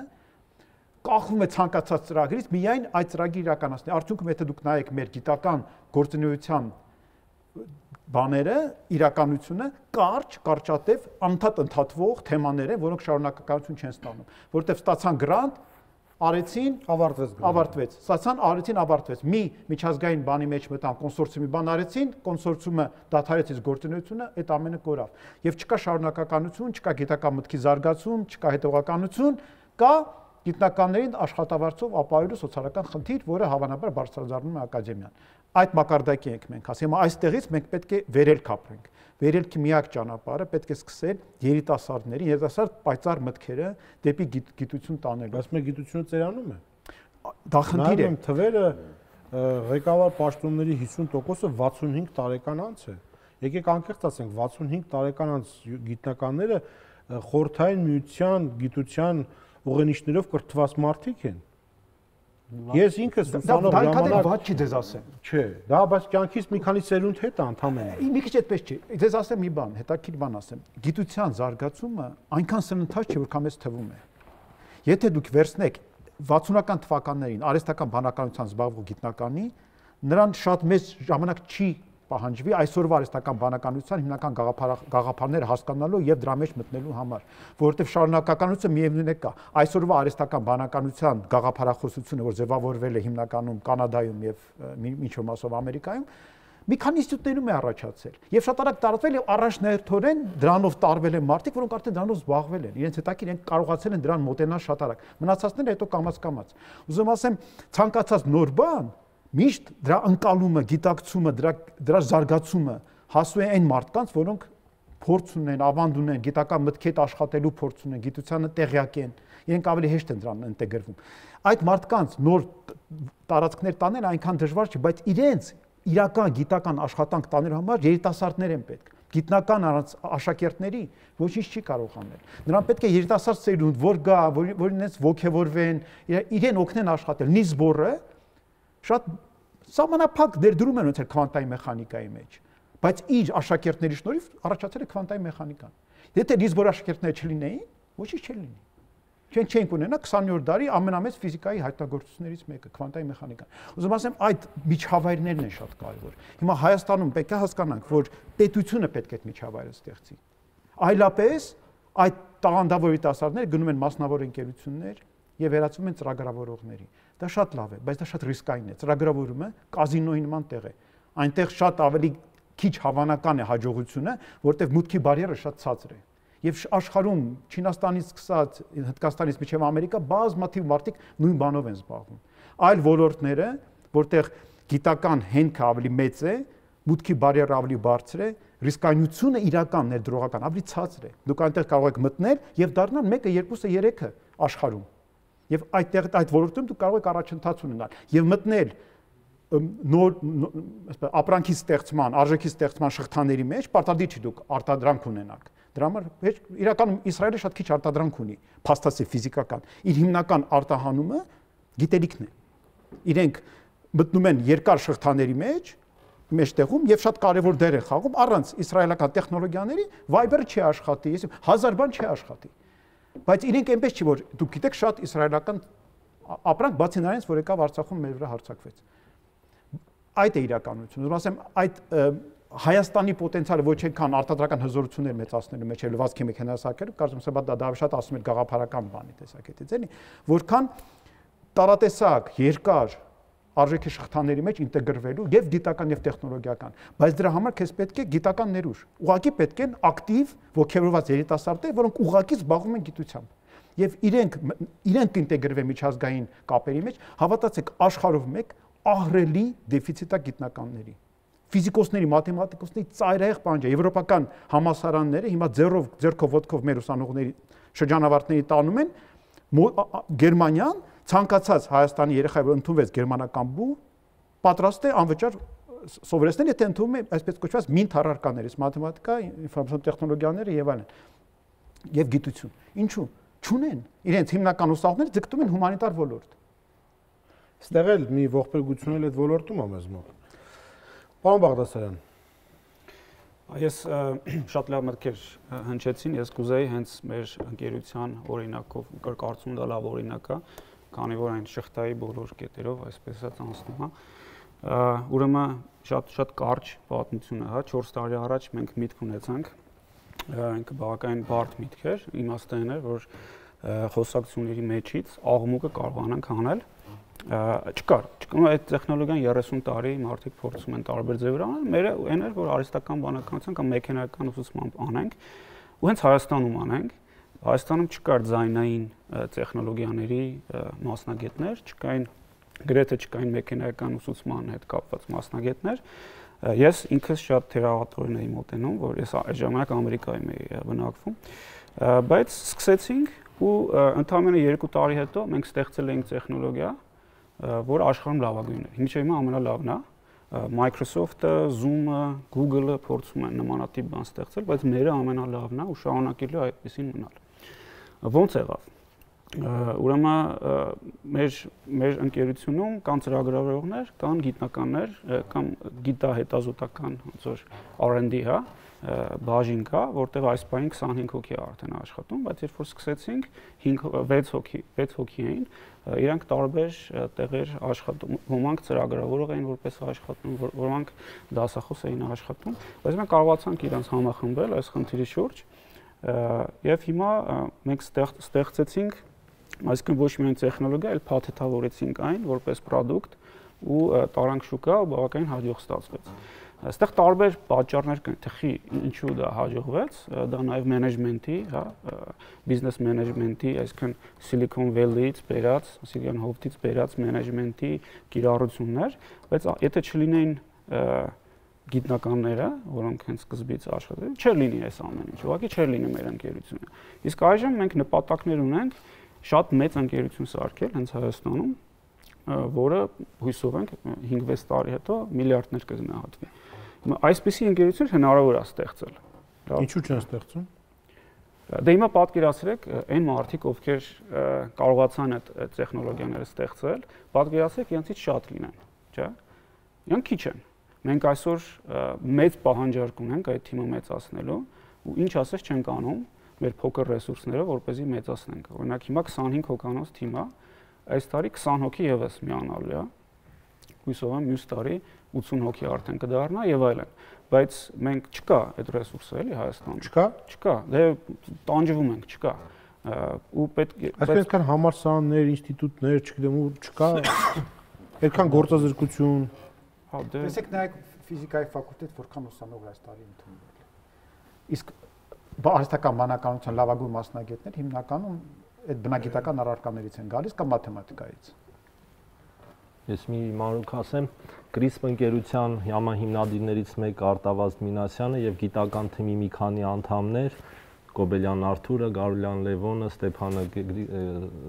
կախվում է ցանկացած ծրագրից միայն այդ ծրագրի իրականացնի։ Արդյունքում եթե դուք նայեք մեր գիտական գործունեության բաները, իրականությունը կարճատև, անընդհատ ընդհատվող թեմաներ են, որոնք շարունակականություն չեն ստանում, որովհետև ստացան գրանտ, արեցին, ավարտվեց։ Ստացան, արեցին, ավարտվեց։ Մի միջազգային բանի մեջ մտան, կոնսորցիումի բան արեցին, կոնսորցիումը դադարեց գործունեությունը, այդ ամենը կորավ։ Եվ չկա շարունակականություն, չկա գիտական մտքի զարգացում, չկա հետևականություն, կա գիտնականներին աշխատավարձով ապահովելու սոցիալական խնդիր, որը հավանաբար բարձրաձայնում է ակադեմիան։ Այդ մակարդակի ենք մենք ասում, հիմա այստեղից մենք պետք է վերելք ապրենք։ Վերելքի միակ ճանապարհը պետք է սկսել երիտասարդների, երիտասարդ պայծառ մտքերը դեպի գիտություն տանելու։ Բայց մեր գիտությունը ծերանում է։ Դա խնդիր է։ Թվերը ղեկավար պաշտոնների 50%-ը 65 տարեկան անց է։ Եկեք անկեղծ ասենք, 65 տարեկան անց գիտնականները խորհրդային միության գիտության ուղենիշներով կրթված մարդիկ են։ Ես ինքս ուսանող ժամանակ ված չի ձեզ ասեմ։ Չէ, դա բայց կյանքից մի քանի սերունդ հետ է ընդհանրապես։ Մի քիչ այդպես չի։ Ձեզ ասեմ մի բան, հետաքրքիր բան ասեմ։ Գիտության զարգացումը այնքան սննդած չէ, որքան մեզ թվում է։ Եթե դուք վերցնեք 60-ական թվականներին արհեստական բանականությամբ զբաղվող գիտնականի, նրան շատ մեծ ժամանակ չի պահանջվի այսօրվա արհեստական բանականության հիմնական գաղափարները հասկանալու եւ դրա մեջ մտնելու համար, որովհետեւ շարունակականությունը միևնույն է կա։ Այսօրվա արհեստական բանականության գաղափարախոսությունը, որ ձևավորվել է հիմնականում Կանադայում եւ ինչ-որ մասով Ամերիկայում, մի քանի ինստիտուտներում է առաջացել եւ շատ արագ տարածվել եւ առաջնահերթորեն դրանով տարվել են մարդիկ, որոնք արդեն դրանով զբաղվել են, իրենց հետաքրքիր են կարողացել են դրան մոտենալ շատ արագ։ Մնացածները հետո կամաց-կամաց։ Ուզում ասեմ, ցանկացած նոր բան միշտ դրա ընկալումը, գիտակցումը, դրա զարգացումը հասու է այն մարդկանց, որոնք փորձ ունեն, ավանդ ունեն, գիտական մտքի հետ աշխատելու փորձ ունեն, գիտությանը տեղյակ են, իրենք ավելի հեշտ են դրան ինտեգրվում։ Այդ մարդկանց նոր տարածքներ տանել այնքան դժվար չէ, բայց իրենց իրական գիտական աշխատանք տանելու համար երիտասարդներ են պետք։ Գիտնական աշակերտների ոչինչ չի կարող անել։ Նրան պետք է երիտասարդ սերունդ, որ գա, որ իրենց ոգևորվեն, իրեն օգնեն աշխատել։ Նիլս Բորը շատ սահմանափակ ներդրում են ունեցել քվանտային մեխանիկայի մեջ, բայց իր աշակերտների շնորհիվ առաջացել է քվանտային մեխանիկան։ Եթե Նիլս Բորի աշակերտները չլինեին, ոչինչ չէր լինի։ Չենք ունենա 20-րդ դարի ամենամեծ ֆիզիկայի հայտնագործություններից մեկը քվանտային մեխանիկան։ Ուզում ասեմ, այդ միջավայրներն են շատ կարևոր։ Հիմա Հայաստանում պետք է հասկանանք, որ պետությունը պետք է այդ միջավայրը ստեղծի։ Այլապես այդ տաղանդավոր երիտասարդները գնում են մասնավոր ընկերություններ եւ վերածվում են ծրագրավորողների։ Դա շատ լավ է, բայց դա շատ ռիսկային է։ Ծրագրավորումը կազինոյի նման տեղ է։ Այնտեղ շատ ավելի քիչ հավանական է հաջողությունը, որտեղ մուտքի բարիերը շատ ցածր է։ Եվ աշխարհում Չինաստանից սկսած Հնդկաստանից մինչև Ամերիկա բազմաթիվ մարդիկ նույն բանով են զբաղվում։ Այլ ոլորտները, որտեղ գիտական հենքը ավելի մեծ է, մուտքի բարիերը ավելի բարձր է, ռիսկայնությունը իրական ներդրողական ավելի ցածր է։ Դուք այնտեղ կարող եք մտնել եւ դառնալ 1-ը, 2-ը, 3-ը աշխարհում։ Եվ այդ ոլորտում դուք կարող եք առաջընթաց ունենալ եւ մտնել նոր ապրանքի ստեղծման, արժեքի ստեղծման շղթաների մեջ, պարտադիր չի դուք արտադրանք ունենաք։ Դրա համար իրականում Իսրայելը շատ քիչ արտադրանք ունի, փաստացի ֆիզիկական։ Իր հիմնական արտահանումը գիտելիքն է։ Իրենք մտնում են երկար շղթաների մեջտեղում եւ շատ կարեւոր դեր են խաղում առանց իսրայելական տեխնոլոգիաների Viber-ը չի աշխատի, 1000 բան չի աշխատի։ Բայց իրենք այնպես չի, որ դուք գիտեք շատ իսրայելական ապրանք բացի նրանից, որ եկավ Արցախում մեր վրա հարձակվեց։ Այդ է իրականությունը։ Ուզում ասեմ, այդ Հայաստանի պոտենցիալը ոչ այնքան արտադրական հզորություններ մեծացնելու մեջ է լվացքի մեխանիզացիաները, կարծում եմ դա շատ ասում էր գաղափարական բանի տեսակետից էլի, որքան տարատեսակ, երկար արժեքի շղթաների մեջ ինտեգրվելու եւ գիտական եւ տեխնոլոգիական, բայց դրա համար քեզ պետք է գիտական ներուժ։ Ուղղակի պետք են ակտիվ ոգևորված երիտասարդներ, որոնք ուղղակի զբաղվում են գիտությամբ։ Եվ իրենք ինտեգրվեն միջազգային կապերի մեջ, հավատացեք, աշխարհով մեկ ահռելի դեֆիցիտ է գիտնականների։ Ֆիզիկոսների, մաթեմատիկոսների ծայրահեղ պահանջ է։ Եվրոպական համալսարանները հիմա ձեռքով ոտքով մեր ուսանողների շրջանավարտների տանում են Գերմանիան ցանկացած Հայաստանի երեխա, որ ընդունվեց գերմանական բու, պատրաստ է անվճար սովորեցնել, եթե ընդունում է այսպես կոչված մինտ առարկաներից, մաթեմատիկա, ինֆորմացիոն տեխնոլոգիաները եւ այլն։ Եվ գիտություն։ Ինչու՞։ Չունեն։ Իրենց հիմնական ուսանողները ձգտում են հումանիտար ոլորտ։ Ստեղ էլ մի ողբերգություն էլ այդ ոլորտում է մեզ մոտ։ Պարոն Բաղդասարյան, ես շատ լավ մտքեր հնչեցին, ես կուզեի հենց մեր ընկերության օրինակով, կարծում դա լավ օրինակ է, քանի որ այն շղթայի բոլոր կետերով այսպես է անցնում, հա։ Ուրեմն շատ կարճ պատմություն է, հա, 4 տարի առաջ մենք միտք ունեցանք, ինքը բավականին բարդ միտք էր, իմաստը այն էր, որ խոսակցությունների մեջից աղմուկը կարողանանք անել չկար այդ տեխնոլոգիան 30 տարի մարդիկ փորձում են տարբեր ձևեր անել, մերը այն էր, որ արհեստական բանականության կամ մեխանիկական ուսուցմամբ անենք, ու հենց Հայաստանում անենք, Հայաստանում չկար ձայնային տեխնոլոգիաների մասնագետներ, գրեթե չկային մեխանիկական ուսուցման հետ կապված մասնագետներ, ես ինքս շատ թերահավատորեն էի մոտենում, որ ես այդ ժամանակ Ամերիկայում էի բնակվում, բայց սկսեցինք ու ընդամենը 2 տարի հետո մենք ստեղծել էինք տեխնոլոգիա, որ աշխարհում լավագույնն է։ Մինչև հիմա ամենալավն է։ Microsoft-ը, Zoom-ը, Google-ը փորձում են նմանատիպ բան ստեղծել, բայց մերը ամենալավն է ու շարունակելու այդպեսին մնալ։ Ոնց եղավ։ Ուրեմն մեր ընկերությունում կան ծրագրավորողներ, կան գիտնականներ, կամ գիտահետազոտական ոնց որ R&D, հա, բաժին կա, որտեղ այս պահին 25 հոգի է արդեն աշխատում, բայց երբ որ սկսեցինք 6 հոգի էին, իրանք տարբեր տեղեր աշխատում, ոմանք ծրագրավորող էին որպես աշխատում, ոմանք դասախոս էին աշխատում, բայց մենք կարողացանք իրանց համախմբել այս խնդիրի շուրջ, եւ հիմա մենք ստեղծեցինք, այսինքն ոչ միայն տեխնոլոգիա, այլ փաթեթավորեցինք այն որպես product ու տարանք շուկա ու բավականին հաջող ստացվեց։ Այստեղ տարբեր պատճառներ կան, թե ինչու դա հաջողվեց, դա նաև մենեջմենթի, հա, բիզնես մենեջմենթի, այսինքն Silicon Valley-ից բերած, Silicon Hawk-ից բերած մենեջմենթի կիրառություններ, բայց եթե չլինեին գիտնականները, որոնք հենց սկզբից աշխատել, չէր լինի այս ամեն ինչ, ուղղակի չէր լինի մեր ընկերությունը։ Իսկ այժմ մենք նպատակներ ունենք շատ մեծ ընկերություն սարքել հենց Հայաստանում, որը հույսով ենք 5-6 տարի հետո միլիարդներ կգնահատվի։ Այսպիսի ընկերություն հնարավոր է ստեղծել։ Ինչու՞ չեն ստեղծում։ Դե հիմա պատկերացրեք այն մարդիկ, ովքեր կարողացան այդ տեխնոլոգիաները ստեղծել, պատկերացրեք իրենցից շատ լինեն, չէ՞։ Իրանք քիչ են։ Մենք այսօր մեծ պահանջարկ ունենք այդ թիմը մեծացնելու ու ինչ ասես չենք անում, մեր փոքր ռեսուրսները, որպեսզի մեծացնենք։ Օրինակ հիմա 25 հոգանոց թիմ է, այս տարի 20 հոգի եւս միանալու է։ Հույսով եմ մյուս տարի 80 հոգի արդեն կդառնա եւ այլն։ Բայց մենք չկա այդ ռեսուրսը էլի Հայաստանում։ Չկա։ Դե տանջվում ենք, չկա։ Ու պետք է այսինքն համալսարաններ, ինստիտուտներ, չգիտեմ, ու չկա այդքան գործազրկություն։ Հա, դե տեսեք նայեք ֆիզիկայի ֆակուլտետ որքան ուսանող այս տարի ընդունվել է։ Իսկ արհեստական բանականության լավագույն մասնագետներ հիմնականում այդ բնագիտական առարկաներից են գալիս կամ մաթեմատիկայից։ Ես մի մանրուք ասեմ, CRISP ընկերության հիմնադիրներից մեկը Արտավազդ Մինասյանը եւ գիտական թիմի մի քանի անդամներ Կոբելյան Արթուրը, Գարուլյան Լևոնը, Ստեփանը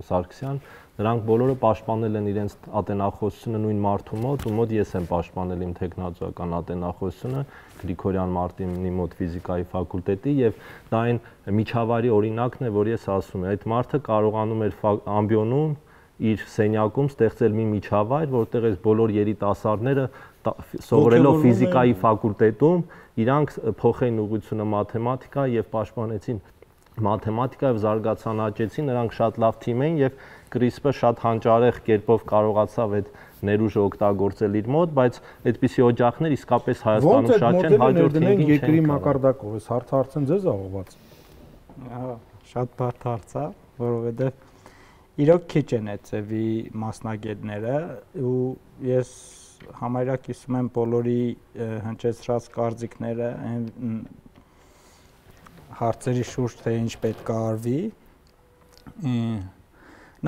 Սարգսյան, նրանք բոլորը պաշտպանել են իրենց ատենախոսությունը նույն մարդու մոտ, ու մոտ ես եմ պաշտպանել իմ տեխնոլոգիական ատենախոսությունը Գրիգորյան Մարտինի մոտ ֆիզիկայի ֆակուլտետի, եւ դա այն միջավայրի օրինակն է, որ ես ասում եմ, այդ մարդը կարողանում էր ամբիոնում իր սենյակում ստեղծել մի միջավայր, որտեղ այս բոլոր երիտասարդները սովորելով ֆիզիկայի ֆակուլտետում իրանք փոխեն ուղղությունը մաթեմատիկա եւ պաշտպանեցին մաթեմատիկա եւ զարգացան աճեցին, նրանք շատ լավ թիմ էին եւ CRISP-ը շատ հանճարեղ կերպով կարողացավ այդ ներուժը օգտագործել իր մոտ, բայց այդպիսի օջախներ իսկապես Հայաստանում շատ չեն, հաջորդ թիմին երկրի մակարդակով, այս հարցն ձեզ աղոված։ Հա, շատ բարդ հարց է, որովհետեւ իրոք քիչ են այդ ծևի մասնագետները ու ես համարյա կիսում եմ բոլորի հնչեցրած կարծիքները այն հարցերի շուրջ թե ինչ պետք է արվի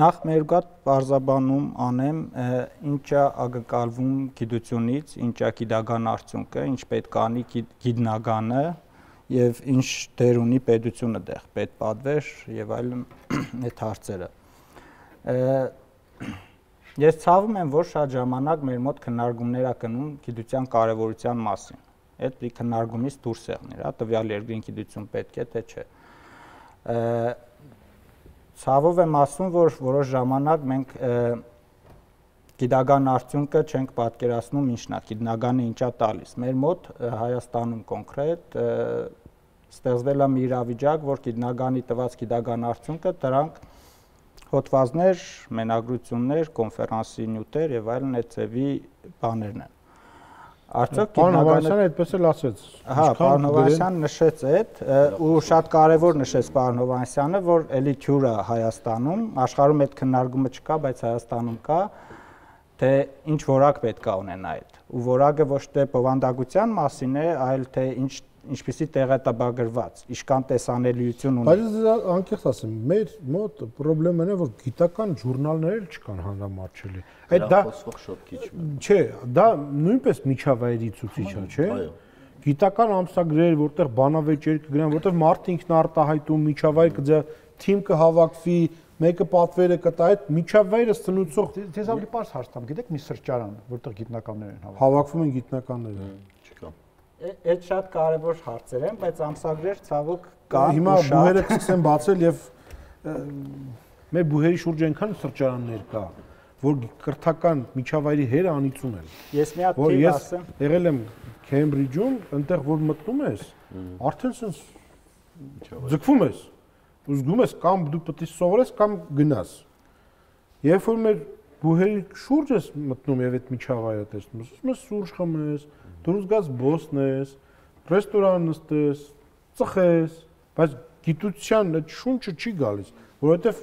նախ մերգատ բարձաբանում անեմ ինչա ակնկալվում գիտությունից ինչա գիտական արդյունքը ինչ պետք է անի գիտնականը եւ ինչ դեր ունի պետությունը դեղ պետպատվեր եւ այլն այդ հարցերը Ես ցավում եմ, որ շատ ժամանակ մեր մոտ քննարկումներ ա գնում գիտության կարևորության մասին։ Այդ մի քննարկումից դուրս եղներ, հա, տվյալ երկրին գիտություն պետք է, թե չէ։ Ցավով եմ ասում, որ որոշ ժամանակ մենք գիտական արդյունքը չենք պատկերացնում ինչն է, գիտնականը ինչա տալիս։ Մեր մոտ Հայաստանում կոնկրետ ստեղծվել է մի իրավիճակ, որ գիտնականի տված գիտական արդյունքը դրանք հոդվածներ, մենագրություններ, կոնֆերանսի նյութեր եւ այլն այդ ծևի բաներն են։ Արդյոք գիտնականը այդպես էլ ասեց։ Հա, պարոն Հովանեսյանը նշեց այդ ու շատ կարեւոր նշեց պարոն Հովանեսյանը, որ էլի թյուր է Հայաստանում, աշխարհում այդ քննարկումը չկա, բայց Հայաստանում կա, թե ինչ որակ պետք է ունենա այդ։ Ու որակը ոչ թե բովանդակության մասին է, այլ թե ինչպիսի տեղեկատվագրված, իշքան տեսանելիություն ունի։ Բայց անկեղծ ասեմ, մեր մոտ խնդրեմն է, որ գիտական ժուրնալներ էլ չկան հանրամատչելի։ Այդ դա շատ քիչ է։ Չէ, դա նույնպես միջավայրի ցուցիչ է, չէ՞։ Գիտական ամսագրեր, որտեղ բանավեճեր կգրան, որտեղ մարդը ինքն արտահայտում միջավայր կձա, թիմ կհավաքվի, մեկը պատվերը կտա, այդ միջավայրը ծնուցող Ձեզ ավելի պարզ հարց տամ, գիտեք մի սրճարան, որտեղ գիտնականներ են հավաքվում են գիտնականները։ Չկա։ Այդ շատ կարևոր հարցեր են, բայց ամսագրեր ցավոք կան։ Հիմա բուհերը կսկսեն բացել եւ մեր բուհերի շուրջ այնքան սրճարաններ կա, որ կրթական միջավայրի հերը անիծում են։ Ես մի հատ թիվ ասեմ։ Եղել եմ Քեմբրիջում, այնտեղ որ մտնում ես, արդեն sense ձգվում ես։ Ու զգում ես կամ դու պետք է սովորես կամ գնաս։ Երբ որ մեր բուհերի շուրջ ես մտնում եւ այդ միջավայրը տեսնում ես, ասում ես սուրճ խմես, դուրս գաս բոսնես, ռեստորան նստես, ծխես, բայց գիտության այդ շունչը չի գալիս, որովհետեւ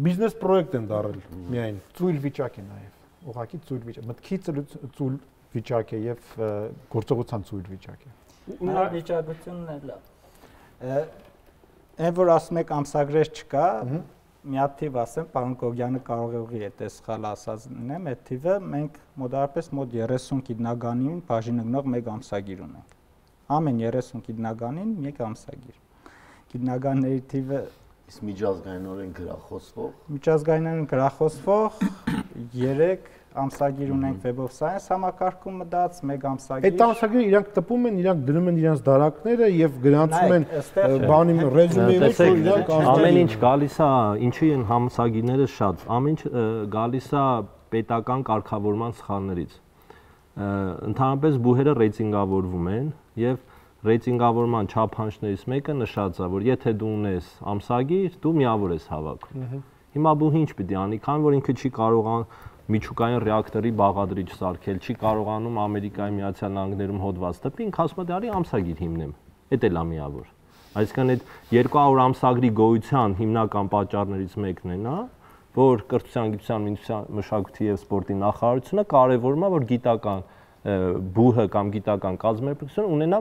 բիզնես պրոյեկտ են դարել միայն։ Ծույլ վիճակ է նաեւ։ Ուղղակի ծույլ վիճակ, մտքի ծույլ վիճակ է եւ գործողության ծույլ վիճակ է։ Նա վիճակությունն է լավ։ Այն որ ասում եք ամսագրեր չկա, մի հատ թիվ ասեմ, պարոն Կոգյանը կարող է ուղի այդ սխալ ասած լինեմ, այդ թիվը մենք մոտավորապես մոտ 30 գիտնականին բաժին ընկնող մեկ ամսագիր ունենք։ Ամեն 30 գիտնականին մեկ ամսագիր։ Գիտնականների թիվը Իսկ միջազգայինորեն գրախոսվող։ Միջազգայինորեն գրախոսվող 3 ամսագիր ունենք Web of Science համակարգում մտած, մեկ ամսագիր։ Այդ ամսագիրը իրանք տպում են, իրանք դնում են իրանք դարակները եւ գրանցում են բանի ռեզումեի մեջ, որ իրանք ամեն ինչ գալիս է, ինչի են ամսագիրները շատ, ամեն ինչ գալիս է պետական կարգավորման սխալներից։ Ընդհանրապես բուհերը ռեյտինգավորվում են եւ ռեյտինգավորման չափանիշներից մեկը նշած է, որ եթե դու ունես ամսագիր, դու միավոր ես հավաքում։ Հիմա բու ինչ պիտի անի, քանի որ ինքը չի կարողան միջուկային ռեակտորի բաղադրիչ սարքել, չի կարողանում Ամերիկայի Միացյալ Նահանգներում հոդված տպի, ինքը ասում է դարի ամսագիր հիմնեմ։ Էդ էլ է միավոր։ Այսինքն այդ 200 ամսագրի գոյության հիմնական պատճառներից մեկն է նա, որ կրթության, գիտության, մշակույթի եւ սպորտի նախարարությունը կարևորում է, որ գիտական բուհը կամ գիտական կազմակերպությունը ունենա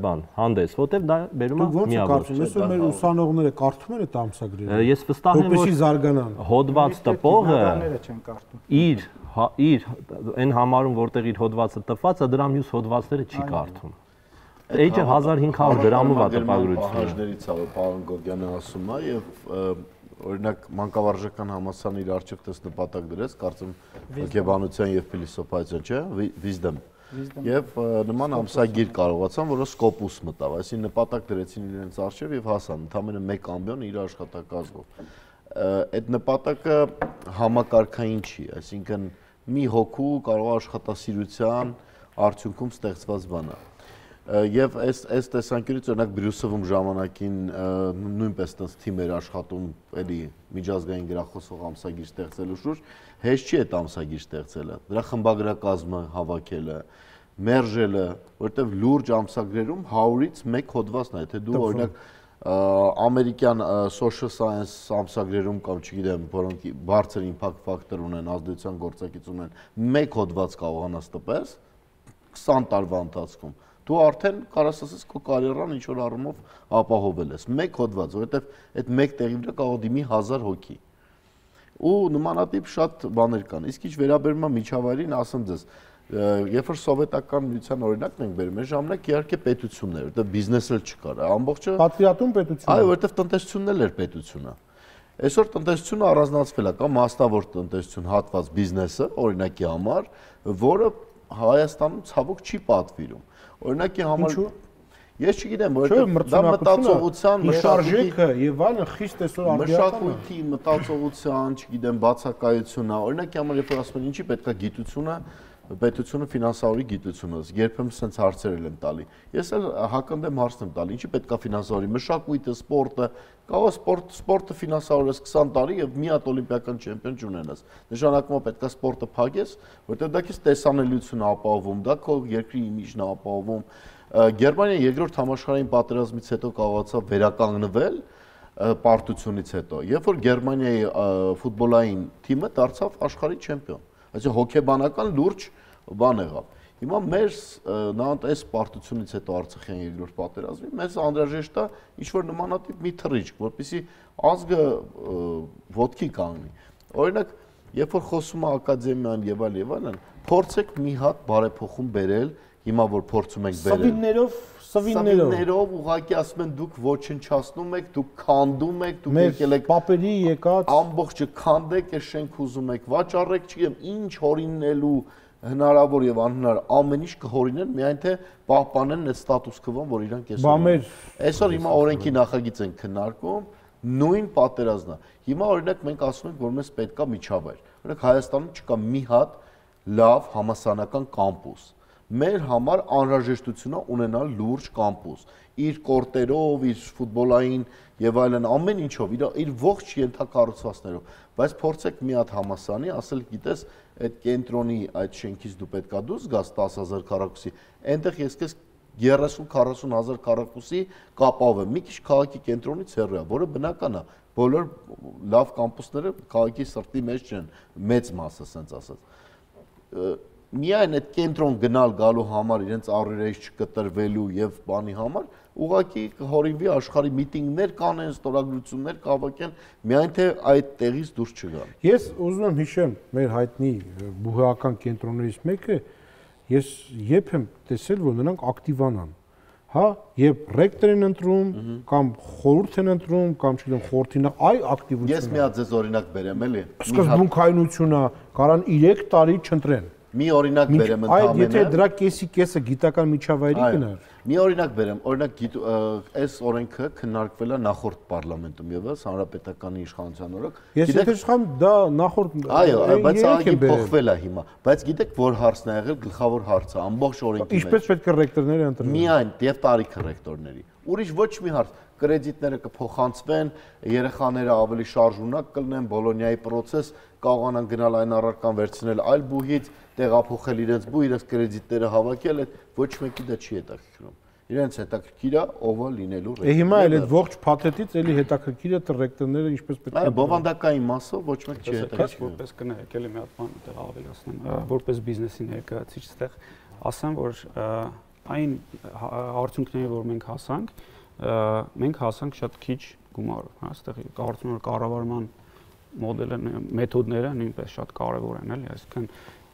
բան, հանդես, որտեղ դա բերում է միավոր։ Այսօր մեր ուսանողները կարդում են այդ ամսագրերը։ Ես վստահ եմ, որ զարգանան։ հոդված տպողը չեն կարդում։ իր այն համարում, որտեղ իր հոդվածը տպված է, դրա մյուս հոդվածները չի կարդում։ Էջը 1500 դրամով է տպագրությունը։ Հաշներից է, պարոն Գոգյանը ասում է եւ օրինակ մանկավարժական համալսարանի իր արժեք տես նպատակ դրեց, կարծեմ հոգեբանության եւ փիլիսոփայության, չէ, wisdom։ Եվ նման ամսագիր կարողացան, որը Scopus մտավ, այսինքն նպատակ դրեցին իրենց արժեվ եւ հասան ընդամենը 1 ամբիոն իր աշխատակազմով։ Այդ նպատակը համակարգային չի, այսինքն մի հոգու կարող աշխատասիրության արդյունքում ստեղծված բան է։ Եվ այս տեսանկյունից օրինակ Բրյուսելում ժամանակին նույնպես տես թիմ էր աշխատում էլի միջազգային գրախոսող ամսագիր ստեղծելու շուրջ, հեշտ չի այդ ամսագիր ստեղծելը, դրա խմբագրակազմը հավաքելը, մերժելը, որովհետև լուրջ ամսագրերում 100-ից 1 հոդվածն է, եթե դու օրինակ ամերիկյան social science ամսագրերում կամ չգիտեմ, որոնք բարձր impact factor ունեն, ազդեցության գործակից ունեն, 1 հոդված կարողանաս տպես 20 տարվա ընթացքում դու արդեն կարաս ասես քո կարիերան ինչ որ առումով ապահովել ես 1 հոդված, որովհետև այդ 1 տեղի վրա կարող դիմի 1000 հոգի։ Ու նմանատիպ շատ բաներ կան։ Իսկ ինչ վերաբերում է միջավայրին, ասեմ ձեզ, երբ որ սովետական միության օրինակն ենք բերում, այն ժամանակ իհարկե պետությունն էր, որովհետև բիզնեսը չկար, ամբողջը պատվիրատուն պետություն։ Այո, որովհետև տնտեսությունն էլ էր պետությունը։ Այսօր տնտեսությունը առանձնացվել է, կամ մասնավոր տնտեսություն, հատված բիզնեսը, օրինակի համար, որը Հայաստանում ցավոք չի պատվիրում։ Օրինակի համար ես չգիտեմ, որովհետև դա մտածողության մշարժեքը եւ այլն խիստ այսօր արդյունավետ է։ Մշակույթի մտածողության, չգիտեմ, բացակայությունն է։ Օրինակի համար երբ որ ասում են ինչի պետք է գիտությունը, պետությունը ֆինանսավորի գիտությունը, երբեմն sense հարցեր եմ տալի։ Ես էլ հակընդեմ հարցն եմ տալի, ինչի պետք է ֆինանսավորի մշակույթը, սպորտը, կարող է սպորտը ֆինանսավորես 20 տարի եւ մի հատ օլիմպիական չեմպիոն չունենաս։ Նշանակում է պետք է սպորտը փակես, որտեղ դա քեզ տեսանելիություն է ապահովում, դա քո երկրի իմիջն է ապահովում։ Գերմանիան երկրորդ համաշխարհային պատերազմից հետո կարողացավ վերականգնվել պարտությունից հետո, երբ որ Գերմանիայի ֆուտբոլային թիմը դարձավ աշխարհի չեմպիոն։ Այսինքն հոգեբանական լուրջ բան եղավ։ Հիմա մեր նանտ այս պարտությունից հետո Արցախյան երկրորդ պատերազմի մեզ անհրաժեշտ է ինչ-որ նմանատիպ մի թռիչք, որպեսզի ազգը ոտքի կանգնի։ Օրինակ, երբ որ խոսում է ակադեմիան եւ այլն, փորձեք մի հատ բարեփոխում բերել, հիմա որ փորձում ենք բերել։ Սվիններով ուղղակի ասում են դուք ոչնչացնում եք, դուք քանդում եք, դուք եկել եք պապերի եկած ամբողջը քանդեք, այս շենք ուզում եք վաճառեք, չգիտեմ, ինչ հորինելու հնարավոր եւ անհնար ամեն ինչ կհորինեն, միայն թե պահպանեն այդ ստատուս քվոն, որ իրանք այսօր հիմա օրենքի նախագիծ են քննարկում, նույն պատերազմն է։ Հիմա օրինակ մենք ասում ենք, որ մեզ պետքա միջավայր։ Օրինակ Հայաստանում չկա մի հատ լավ համալսարանական կամպուս։ Մեր համար անհրաժեշտություն է ունենալ լուրջ կամպուս, իր կորտերով, իր ֆուտբոլային եւ այլն ամեն ինչով, իր ողջ ենթակառուցվածքներով, բայց փորձեք մի հատ համասանի, ասել գիտես, այդ կենտրոնի այդ շենքից դու պետքա դուրս գաս 10000 քառակուսի, այնտեղ ես քեզ 30-40000 քառակուսի կապավեմ, մի քիչ քաղաքի կենտրոնից հեռու է, որը բնական է, բոլոր լավ կամպուսները քաղաքի սրտի մեջ չեն, մեծ մասը, ասենց ասած։ Միայն այդ կենտրոն գնալ գալու համար իրենց առերից չկտրվելու եւ բանի համար ուղղակի հորինվի աշխարհի միտինգներ կանեն, ստորագրություններ կհավաքեն, միայն թե այդ տեղից դուրս չգան։ Ես ուզում եմ հիշեմ մեր հայտնի բուհական կենտրոններից մեկը, ես երբ եմ տեսել, որ նրանք ակտիվանան, հա, երբ ռեկտոր են ընտրում կամ խորհուրդ են ընտրում կամ չգիտեմ խորհրդին այ ակտիվություն։ Ես մի հատ ձեզ օրինակ բերեմ էլի։ Սկզբունքայնությունը կարան 3 տարի չընտրեն։ Մի օրինակ բերեմ ընդհանրապես։ Եթե դրա կեսը գիտական միջավայրի գնար։ Մի օրինակ բերեմ, օրինակ այս օրենքը քննարկվել է նախորդ պարլամենտում եւս հանրապետականի իշխանության օրոք։ Ես եթե չխամ դա նախորդ այո, բայց ահագին փոխվել է հիմա, բայց գիտեք որ հարցն է եղել, գլխավոր հարցը ամբողջ օրենքի մեջ։ Ինչպես պետք է ռեկտորները ընտրվեն։ Միայն եւ տարիքը ռեկտորների։ Ուրիշ ոչ մի հարց, կրեդիտները կփոխանցվեն, երեխաները ավելի շարժունակ կլինեն, Բոլոնիայի process կարողանան գնալ այն առարկան վերցնել այլ բուհից, տեղափոխել իրենց բու, իրենց կրեդիտները հավաքել, այդ ոչ մեկի դա չի հետաքրքրում։ Իրենց հետաքրքիր է ով է լինելու ռեկտոր։ Հիմա էլ այդ ողջ փաթեթից էլի հետաքրքիր է ռեկտորները ինչպես պետք է։ Այո, բովանդակային մասով ոչ մեկ չի հետաքրքիր։ Որպես կնայեք էլի մի հատ բան այդտեղ ավելացնեմ, որպես բիզնեսի ներկայացուցիչ այդտեղ ասեմ, որ այն արդյունքները, որ մենք հասանք շատ քիչ գումարով, հա, այստեղ կարծում եմ որ կառավարման մոդելը, մեթոդները նույնպես շատ կարևոր են, էլի, այսինքն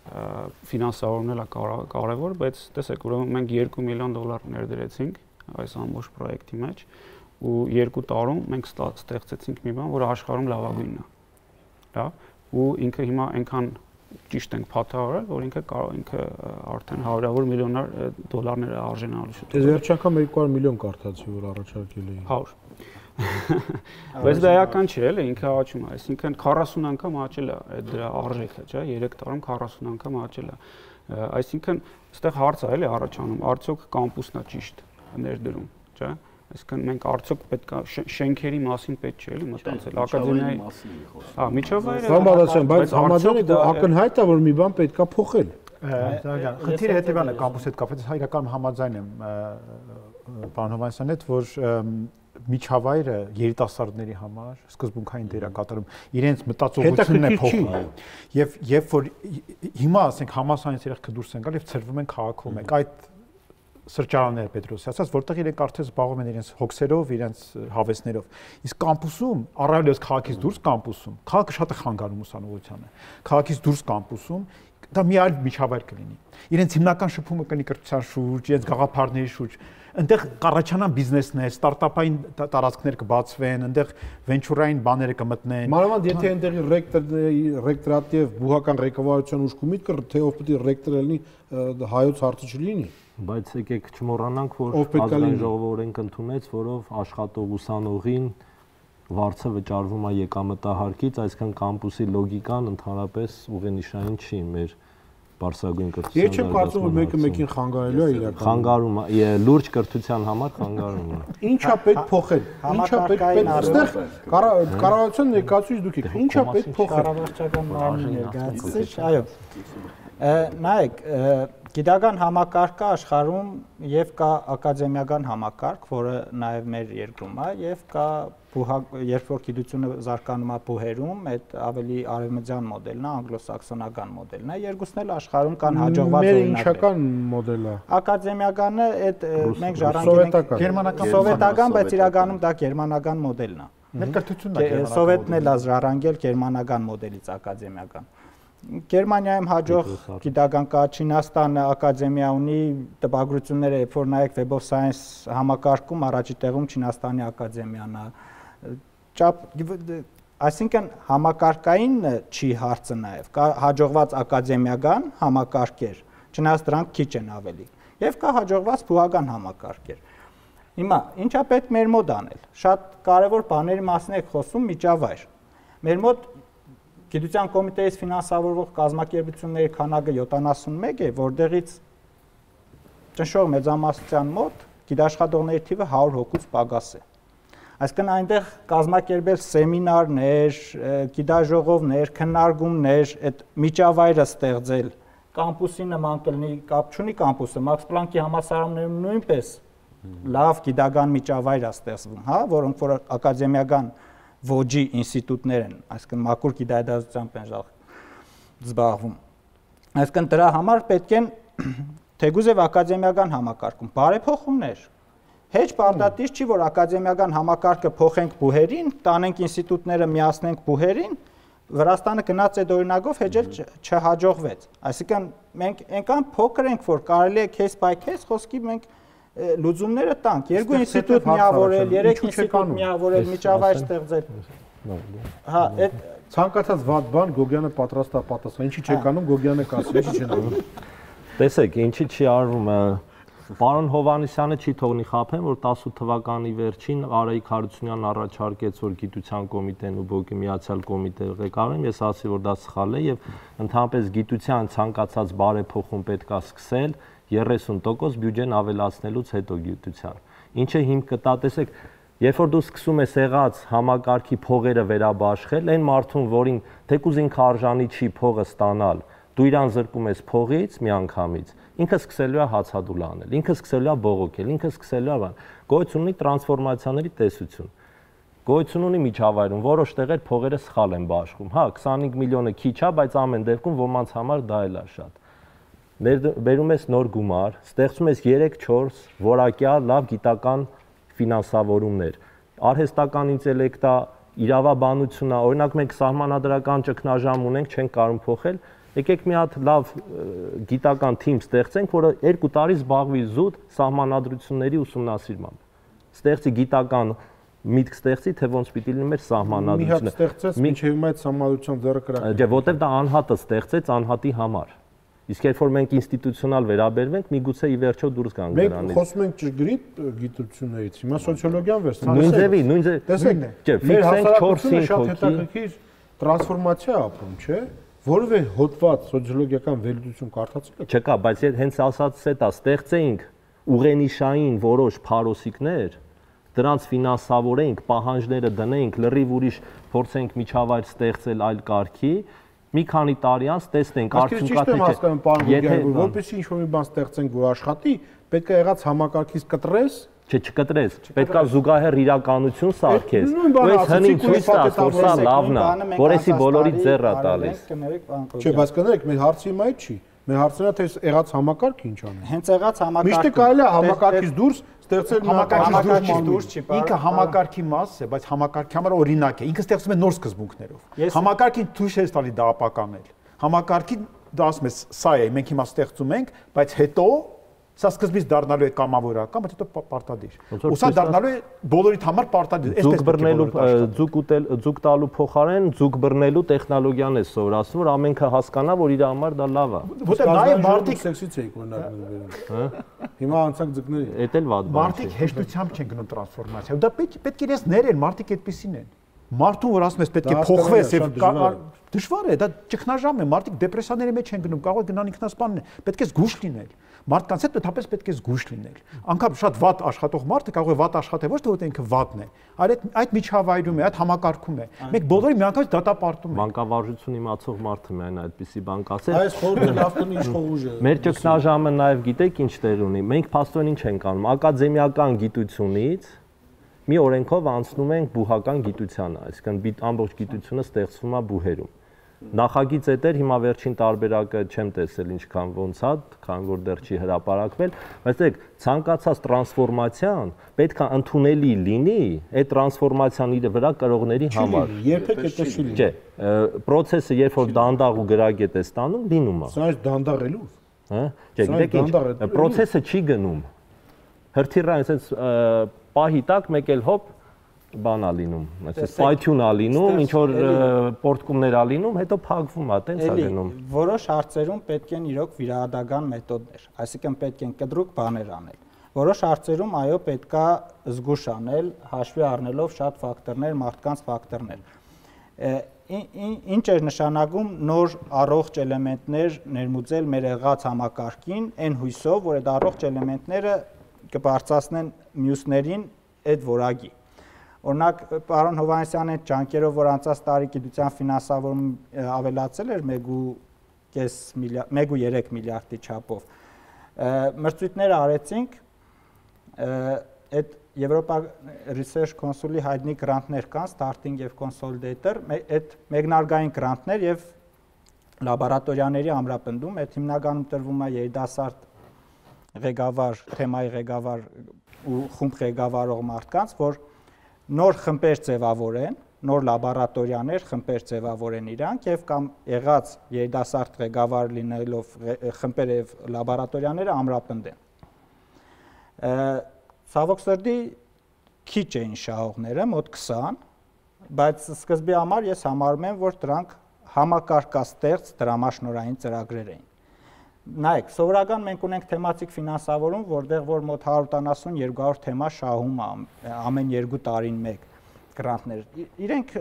ֆինանսավորումն էլ է կարևոր, բայց տեսեք, ուրեմն մենք $2 միլիոն ներդրեցինք այս ամբողջ պրոյեկտի մեջ ու 2 տարում մենք ստեղծեցինք մի բան, որը աշխարհում լավագույնն է։ Լավ, ու ինքը հիմա այնքան ճիշտ ենք փաթահարել, որ ինքը արդեն հարյուրավոր միլիոններ դոլարներ է արժանանալու շուտ։ Ես վերջ անգամ 200 միլիոն կարդացի, որ առաջարկել էին։ 100 Բայց դա էական չէ, էլի, ինքը աճում է, այսինքն 40 անգամ աճել է այդ դրա արժեքը, չէ, 3 տարում 40 անգամ աճել է։ Այսինքն, այստեղ հարց է, էլի, առաջանում, արդյոք կամպուսն է ճիշտ ներդրում, չէ։ Այսինքն մենք արդյոք պետք է շենքերի մասին պետք չէ, էլի, մտածել, ակադեմիայի մասին խոսքը։ Հա, միջավայրը։ Բանբարասյան, բայց համաձայն եք, որ ակնհայտ է, որ մի բան պետք է փոխել։ Խնդիրը հետևյալն է, կամպուսի հետ կապված, հայկական համաձայն եմ պարոն Հովհաննիսյանի հետ, որ միջավայրը երիտասարդների համար սկզբունքային դեր է կատարում, իրենց մտածողությունն է փոխում։ Եվ երբ որ հիմա ասենք համասարից երեխեք դուրս են գալ եւ ծրվում են քաղաքում, այդ սրճարանները Պետրոսի ասած, որտեղ իրենք արդեն զբաղվում են իրենց հոգսերով, իրենց հավեսներով։ Իսկ կամպուսում, առավելևս քաղաքից դուրս կամպուսում, քաղաքը շատ է խանգարում ուսանողությանը։ Քաղաքից դուրս կամպուսում դա մի այլ միջավայր կլինի։ Իրենց հիմնական շփումը կլինի կրթության շուրջ, իրենց գաղափարների շուրջ։ Այնտեղ կառաջանան բիզնեսներ, ստարտափային տարածքներ կբացվեն, այնտեղ վենչուրային բաները կմտնեն։ Մանավանդ եթե այնտեղի ռեկտորատիվ բուհական ղեկավարության ուշ կումիտ կր, թե ով պետք է ռեկտոր լինի, հայոց հարցը չլինի։ Բայց եկեք չմոռանանք, որ ազգային ժողովը օրենք ընդունեց, որով աշխատող ուսանողին վարձը վճարվում է եկամտահարկից, այսինքն կամպուսի լոգիկան ընդհանրապես ուղենիշային չի մեր Բարսագույն կրթության։ Ես չեմ կարծում, որ մեկը մեկին խանգարելու է իրականում։ Խանգարում է, լուրջ կրթության համար խանգարում է։ Ինչա պետք փոխել։ Ինչա պետք այստեղ կառավարության ներկայացուցիչ դուք եք։ Ինչա պետք փոխել։ Կառավարչական մարմնի ներկայացուցիչ, այո։ Նայեք, գիտական համակարգը աշխարհում եւ կա ակադեմիական համակարգ, որը նաեւ մեր երկրում է, եւ կա երբ որ գիտությունը զարգանում է բուհերում, այդ ավելի արևմտյան մոդելն է, անգլոսաքսոնական մոդելն է, երկուսն էլ աշխարհում կան հաջողված օրինակներ։ Մեր ինչական մոդելը։ Ակադեմիականը այդ մենք ժառանգել ենք գերմանական, սովետական, բայց իրականում դա գերմանական մոդելն է։ Մեր կրթությունն է գերմանական։ Սովետն էլ ժառանգել գերմանական մոդելից ակադեմիական։ Գերմանիայում հաջող գիտական կա, Չինաստանը ակադեմիա ունի, տպագրությունները, երբ որ նայեք Web of Science համակարգում առաջի տեղում Չինաստանի ակադեմիան է։ Այսինքն համակարգային չի հարցը նաև, կա հաջողված ակադեմիական համակարգեր, չնայած դրանք քիչ են ավելի, եւ կա հաջողված բուհական համակարգեր։ Հիմա ինչա պետք մեր մոտ անել։ Շատ կարևոր բաների մասին եք խոսում, միջավայր։ Մեր մոտ Գիտության կոմիտեից ֆինանսավորվող կազմակերպությունների քանակը 71 է, որտեղից ճնշող մեծամասնության մոտ գիտաշխատողների թիվը 100 հոգուց պակաս է։ Այսինքն այնտեղ կազմակերպել սեմինարներ, գիտաժողովներ, քննարկումներ, այդ միջավայրը ստեղծել, կամպուսի նման կլինի, կապ չունի կամպուսը, Մաքս Պլանկի համալսարաններում նույնպես լավ գիտական միջավայր է ստեղծվում, հա, որոնք որ ակադեմիական ոճի ինստիտուտներ են, այսինքն մաքուր գիտահետազոտությամբ են զբաղվում։ Այսինքն դրա համար պետք են թեկուզ եւ ակադեմիական համակարգում բարեփոխումներ։ Հեչ պարտադիր չի, որ ակադեմիական համակարգը փոխենք բուհերին, տանենք ինստիտուտները միացնենք բուհերին, Վրաստանը գնաց այդ օրինակով հեչել չհաջողվեց։ Այսինքն մենք այնքան փոքր ենք, որ կարելի է case by case խոսքի մենք լուծումները տանք, երկու ինստիտուտ միավորել, երեք ինստիտուտ միավորել, միջավայր ստեղծել։ Հա, այդ Ցանկացած վատ բան Գոգյանը պատրաստ է պատասխան։ Ինչի չեք անում Գոգյանը կասի, ինչի չեն անում։ Տեսեք, ինչի չի արվում, պարոն Հովհաննիսյանը չի թողնի խաբեն, որ 18 թվականի վերջին Արայիկ Հարությունյանն առաջարկեց, որ գիտության կոմիտեն ու ԲՕԿ-ի միացյալ կոմիտե ղեկավարեն, ես ասացի, որ դա սխալ է եւ ընդհանրապես գիտության ցանկացած բարեփոխում պետք է սկսել 30% բյուջեն ավելացնելուց հետո գիտության։ Ինչը հիմք կտա, տեսեք, երբ որ դու սկսում ես եղած համակարգի փողերը վերաբաշխել, այն մարդուն, որին թեկուզ ինքը արժանի չի փողը ստանալ, դու իրան զրկում ես փողից միանգամից, ինքը սկսելու է հացադուլ անել, ինքը սկսելու է բողոքել, ինքը սկսելու է բան։ Գոյություն ունի տրանսֆորմացիաների տեսություն։ Գոյություն ունի միջավայրում, որոշ տեղեր փողերը սխալ են բաշխում։ Հա, 25 միլիոնը քիչ է, բայց ամեն դեպքում ոմանց համար դա էլ է շատ։ Բերում ես նոր գումար, ստեղծում ես 3-4 որակյալ լավ գիտական ֆինանսավորումներ, արհեստական ինտելեկտա, իրավաբանությունա, օրինակ մենք սահմանադրական ճգնաժամ ունենք, չենք կարող փոխել, եկեք մի հատ լավ գիտական թիմ ստեղծենք, որը 2 տարի զբաղվի զուտ սահմանադրությունների ուսումնասիրմամբ։ Ստեղծի գիտական միտք ստեղծի, թե ոնց պիտի լինի մեր սահմանադրությունը։ Մի հատ ստեղծեց, մինչև հիմա այդ սահմանադրության ձեռը կրակ։ Չէ, որտեվ դա անհատը ստեղծեց անհատի համար։ Իսկ երբ որ մենք ինստիտուցիոնալ վերաբերվենք, միգուցե ի վերջո դուրս գանք դրանից։ Մենք խոսում ենք ճշգրիտ գիտություններից, հիմա սոցիոլոգիան վերցնենք։ Նույնձևի, տեսեք, չէ, ֆիքսենք 4-5 շատ հոգի։ հետաքրքիր տրանսֆորմացիա ապրում, չէ՞։ Որևէ հոդված սոցիոլոգիական վերլուծություն կարդացել եք։ Չկա, բայց հենց ասածս է դա, ստեղծեինք ուղենիշային որոշ փարոսիկներ, դրանց ֆինանսավորենք, պահանջները դնենք, լրիվ ուրիշ փորձենք միջավայր ստեղծել այլ կարգի, մի քանի տարի անց տեսնենք արդյունքատի չէ։ Որպեսզի ինչ-որ մի բան ստեղծենք, որ աշխատի, պետք է եղած համակարգից կտրես, չէ, չկտրես, պետք է զուգահեռ իրականություն սարքես։ Ու այս հնին ցույց տաս, որ սա լավն է, որեսի բոլորի ձեռը տալիս։ Չէ, բայց կներեք, մեր հարցը հիմա այդ չի։ Մեր հարցն է, թե եղած համակարգը ինչ անի։ Հենց եղած համակարգը։ Միշտ կարելի է համակարգից դուրս ստեղծել համակարգից դուրս չի, ինքը համակարգի մաս է, բայց համակարգի համար օրինակ է։ Ինքը ստեղծում է նոր սկզբունքներով։ Համակարգին ցույց է տալի դա ապականել։ Համակարգին դա ասում է, սա է, մենք հիմա ստեղծում ենք, բայց հետո սա սկզբից դառնալու է կամավորական, բայց հետո պարտադիր։ Ու սա դառնալու է բոլորիդ համար պարտադիր։ Ձուկ բռնելու, ձուկ տալու փոխարեն ձուկ բռնելու տեխնոլոգիան է սովորացնում, որ ամենքը հասկանա, որ իր համար դա լավ է։ Որտեղ նաև մարդիկ սեքսից էիք օրինակ վերում։ Հիմա անցանք ձկների։ Էդ էլ վատ բան չէ։ Մարդիկ հեշտությամբ չեն գնում տրանսֆորմացիա։ Դա պետք է իրենց ներեն, մարդիկ այդպեսին են։ Մարդուն որ ասում ես պետք է փոխվես եւ դժվար է, դա ճգնաժամ է, մարդիկ դեպրեսիաների մեջ են գնում, կարող է գնան ինքնասպանն է, պետք է զգուշ լինել։ Մարդկանց հետ պետք է զգուշ լինել։ Անկամ շատ վատ աշխատող մարդը կարող է վատ աշխատել, ոչ թե որ ինքը վատն է, այլ այդ միջավայրում է, այդ համակարգում է։ Մենք բոլորի միանգամից դատապարտում ենք։ Մանկավարժություն իմացող մարդը միայն այդպիսի բան կասել։ Այս խորհուրդը լավ տնի իշխող ուժ է։ Մեր ճգնաժամը նաև գիտեք ինչ տեղ ունի։ Մենք փաստորեն ինչ ենք անում, ակադեմիական գիտությունից մի օրենքով անցնում ենք բուհական գիտությանը, այսինքն ամբողջ գիտությունը ստեղծվում է բուհերում։ Նախագիծ էտեր հիմա վերջին տարբերակը չեմ տեսել ինչքան ոնց է, քան որ դեռ չի հրապարակվել, բայց դեք ցանկացած տրանսֆորմացիան պետք է ընդունելի լինի այդ տրանսֆորմացիան իր վրա կրողների համար։ Երբեք դա չի լինի։ Չէ, process-ը երբ որ դանդաղ ու գրագետ է ստանում, լինում է։ Սա դանդաղելու։ Հա? Չէ, գիտեք ինչ, process-ը չի գնում։ Հրթիռը այսպես պահի տակ մեկ էլ հոպ բանա լինում, այսպես պայթյունա լինում, ինչ որ պորտկումներ ա լինում, հետո փակվում է, տենց է գնում։ Որոշ հարցերում պետք են իրոք վիրահատական մեթոդներ, այսինքն պետք են կտրուկ բաներ անել։ Որոշ հարցերում այո պետքա զգուշ անել, հաշվի առնելով շատ ֆակտորներ, մարդկանց ֆակտորներ։ Ինչ է նշանակում նոր առողջ էլեմենտներ ներմուծել մեր եղած համակարգին, այն հույսով, որ այդ առողջ էլեմենտները կբարձրացնեն մյուսներին այդ որակի։ Օրինակ, պարոն Հովհաննիսյանի ջանքերով, որ անցած տարի գիտության ֆինանսավորումը ավելացել էր 1.3 միլիարդի չափով, մրցույթներ արեցինք, այդ Եվրոպա Research Council-ի հայտնի գրանտներ կան, Starting եւ Consolidator, այդ մեկնարկային գրանտներ եւ լաբորատորիաների ամրապնդում, այդ հիմնականում տրվում է երիտասարդ ղեկավար, թեմայի ղեկավար ու խումբ ղեկավարող մարդկանց, որ նոր խմբեր ձևավորեն, նոր լաբորատորիաներ, խմբեր ձևավորեն իրանք եւ կամ եղած երիտասարդ ղեկավար լինելով խմբերը եւ լաբորատորիաները ամրապնդեն։ Ցավոք սրտի քիչ էին շահողները, մոտ 20, բայց սկզբի համար ես համարում եմ, որ դրանք համակարգաստեղծ դրամաշնորհային ծրագրեր էին։ Նայեք, սովորական մենք ունենք թեմատիկ ֆինանսավորում, որտեղ որ մոտ 170-200 թեմա շահում է ամեն 2 տարին մեկ գրանտներ։ Իրենք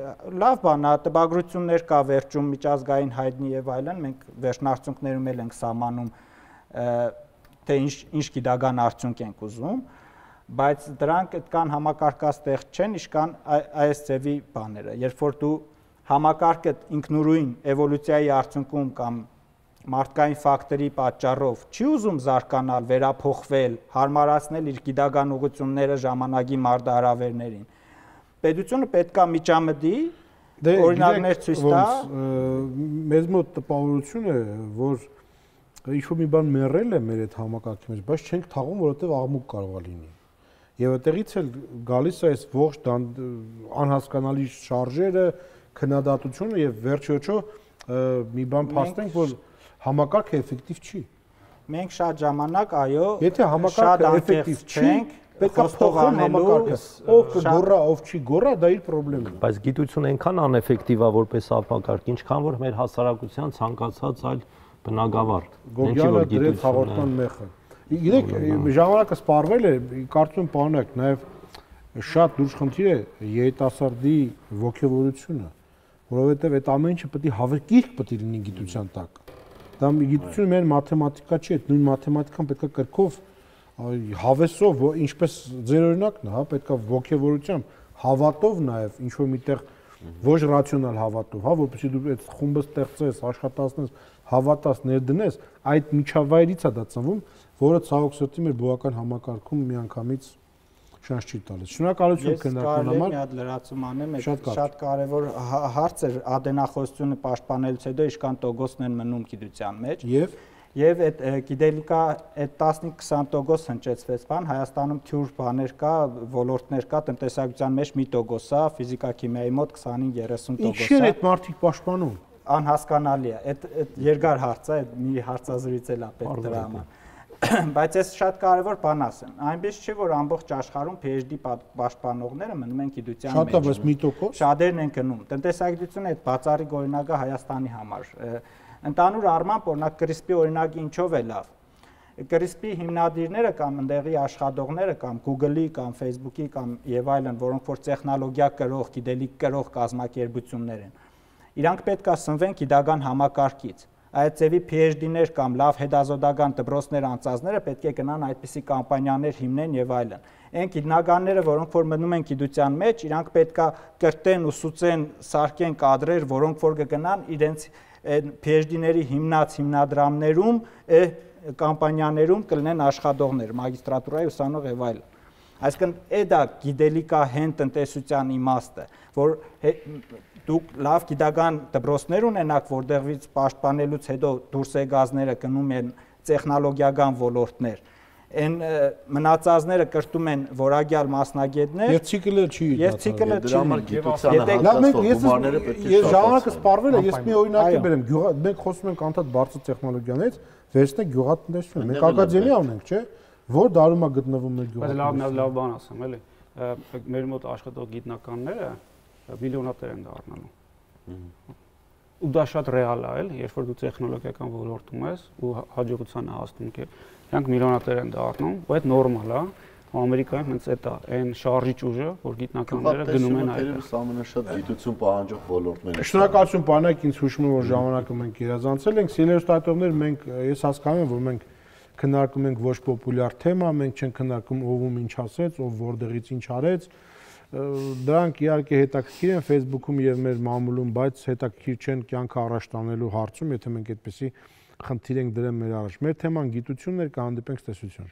լավ բան է, տպագրություններ կա վերջում միջազգային հայտնի եւ այլն, մենք վերջնարդյունքներում էլ ենք սահմանում թե ինչ գիտական արդյունք ենք ուզում, բայց դրանք այդքան համակարգաստեղծ չեն, իշքան այս ձևի բաները։ Երբ որ դու համակարգը ինքնուրույն էվոլյուցիայի արդյունքում կամ մարդկային ֆակտորի պատճառով չի ուզում զարգանալ, վերափոխվել, հարմարացնել իր գիտական ուղղությունները ժամանակի մարտահրավերներին, պետությունը պետք է միջամտի, օրինակներ ցույց տա։ Մեզ մոտ տպավորություն է, որ ինչ-որ մի բան մեռել է մեր այդ համակարգի մեջ, բայց չենք թաղում, որովհետև աղմուկ կարող է լինի։ Եվ այդտեղից էլ գալիս է այս ողջ անհասկանալի շարժերը, քննադատությունը եւ վերջիոչո մի բան փաստենք, որ համակարգը էֆեկտիվ չի։ Մենք շատ ժամանակ, այո, եթե համակարգը էֆեկտիվ չի, պետք է փոխել համակարգը։ Ով կգոռա, ով չի գոռա, դա իր խնդիրն է։ Բայց գիտությունը այնքան անէֆեկտիվ է որպես համակարգ, ինչքան որ մեր հասարակության ցանկացած այլ բնագավառ։ Գոգյանը դրեց հաղորդման մեխը։ Գիտեք, ժամանակը սպառվել է, կարծում եմ պարոնակ, նաև շատ լուրջ խնդիր է երիտասարդի ոգևորությունը, որովհետև այդ ամեն ինչը պետք է հավերկիրք պետք է լինի գիտության տակ։ Դա գիտությունը մեր մաթեմատիկա չի, այդ նույն մաթեմատիկան պետք է կրկով հավեսով, ինչպես ձեր օրինակն է, հա, պետք է ոգևորությամբ, հավատով նաև ինչ որ միտեղ ոչ ռացիոնալ հավատով, հա, որպեսզի դու այդ խումբը ստեղծես, աշխատացնես, հավատաս, ներդնես, այդ միջավայրից է դա ծնվում, որը ցավոք սրտի մեր բողոքական համակարգում միանգամից շանս չի տալիս։ Շնորհակալություն քննարկման համար։ Մի հատ լրացում անեմ, շատ կարևոր հարց է ադենախոսությունը պաշտպանելուց հետո ինչքան տոկոսն են մնում գիտության մեջ։ Եվ այդ գիտելիքա այդ 15-20% հնչեցվեց բան, Հայաստանում թյուր բաներ կա, ոլորտներ կա, տնտեսագիտության մեջ 1% է, ֆիզիկա-քիմիայի մոտ 25-30% է։ Ինչի են այդ մարդիկ պաշտպանում։ Անհասկանալի է։ Այդ երկար հարց է, մի հարցազրույց էլ է պետք դրա համար։ Բայց ես շատ կարևոր բան ասեմ։ Այնպես չէ, որ ամբողջ աշխարհում PhD պաշտպանողները մնում են գիտության մեջ։ Շատ է, բայց 1%։ Շատերն են գնում։ Տնտեսագիտությունը այդ բացառիկ օրինակը Հայաստանի համար։ Ընդհանուր առմամբ օրինակ CRISP-ի օրինակը ինչով է լավ։ CRISP-ի հիմնադիրները կամ ընդեղի աշխատողները կամ Google-ի կամ Facebook-ի կամ եւ այլն, որոնք որ տեխնոլոգիա կրող, գիտելիք կրող կազմակերպություններ են, իրանք պետք է սնվեն գիտական համակարգից։ Այդ ձևի PhD-ներ կամ լավ հետազոտական դպրոցներ անցածները պետք է գնան այդպիսի կամպանիաներ հիմնեն եւ այլն։ Այն գիտնականները, որոնք որ մնում են գիտության մեջ, իրանք պետք է կրտեն, ուսուցեն, սարքեն կադրեր, որոնք որ կգնան իրենց PhD-ների հիմնած հիմնադրամներում, կամպանիաներում կլինեն աշխատողներ, մագիստրատուրայի ուսանող եւ այլն։ Այսինքն դա գիտելիքահեն տնտեսության իմաստը, որ դուք լավ գիտական դպրոցներ ունենաք, որտեղից պաշտպանելուց հետո դուրս եկածները գնում են տեխնոլոգիական ոլորտներ, այն մնացածները կրտում են որակյալ մասնագետներ, եւ ցիկլը չի։ Եվ ցիկլը չի։ Դրա համար գիտությանը հատկացող գումարները պետք է ես ժամանակը սպառվել է, ես մի օրինակ բերեմ, մենք խոսում ենք անդադ բարձր տեխնոլոգիաներից, վերցնեք գյուղատնտեսություն, մենք ակադեմիա ունենք, չէ՞, որ դարում է գտնվում մեր գյուղատնտեսությունը։ Բայց լավ բան ասեմ, էլի։ Մեր մոտ աշխատող գիտնականները միլիոնատեր են դառնալու։ Ու դա շատ ռեալ է, էլ, երբ որ դու տեխնոլոգիական ոլորտում ես ու հաջողության հասնում ես, իրանք միլիոնատեր են դառնում, ու այդ նորմալ է։ Ամերիկայում հենց այդ է, այն շարժիչ ուժը, որ գիտնականները գնում են այդ։ Այս ամենաշատ գիտություն պահանջող ոլորտներն են։ Շնորհակալություն բանակ, ինձ հուշում է, որ ժամանակը մենք իրազանցել ենք։ Սիրելի ստատողներ, մենք ես հասկանում եմ, որ մենք քննարկում ենք ոչ պոպուլյար թեմա, մենք չենք քննարկում ով ինչ ասեց, ով որտեղից ինչ արեց։ Դրանք իհարկե հետաքրքիր են Facebook-ում եւ մեր մամուլում, բայց հետաքրքիր չեն կյանքը առաջ տանելու հարցում, եթե մենք այդպեսի խնդիր ենք դրել մեր առաջ։ Մեր թեման գիտությունն էր, կհանդիպենք տեսություն։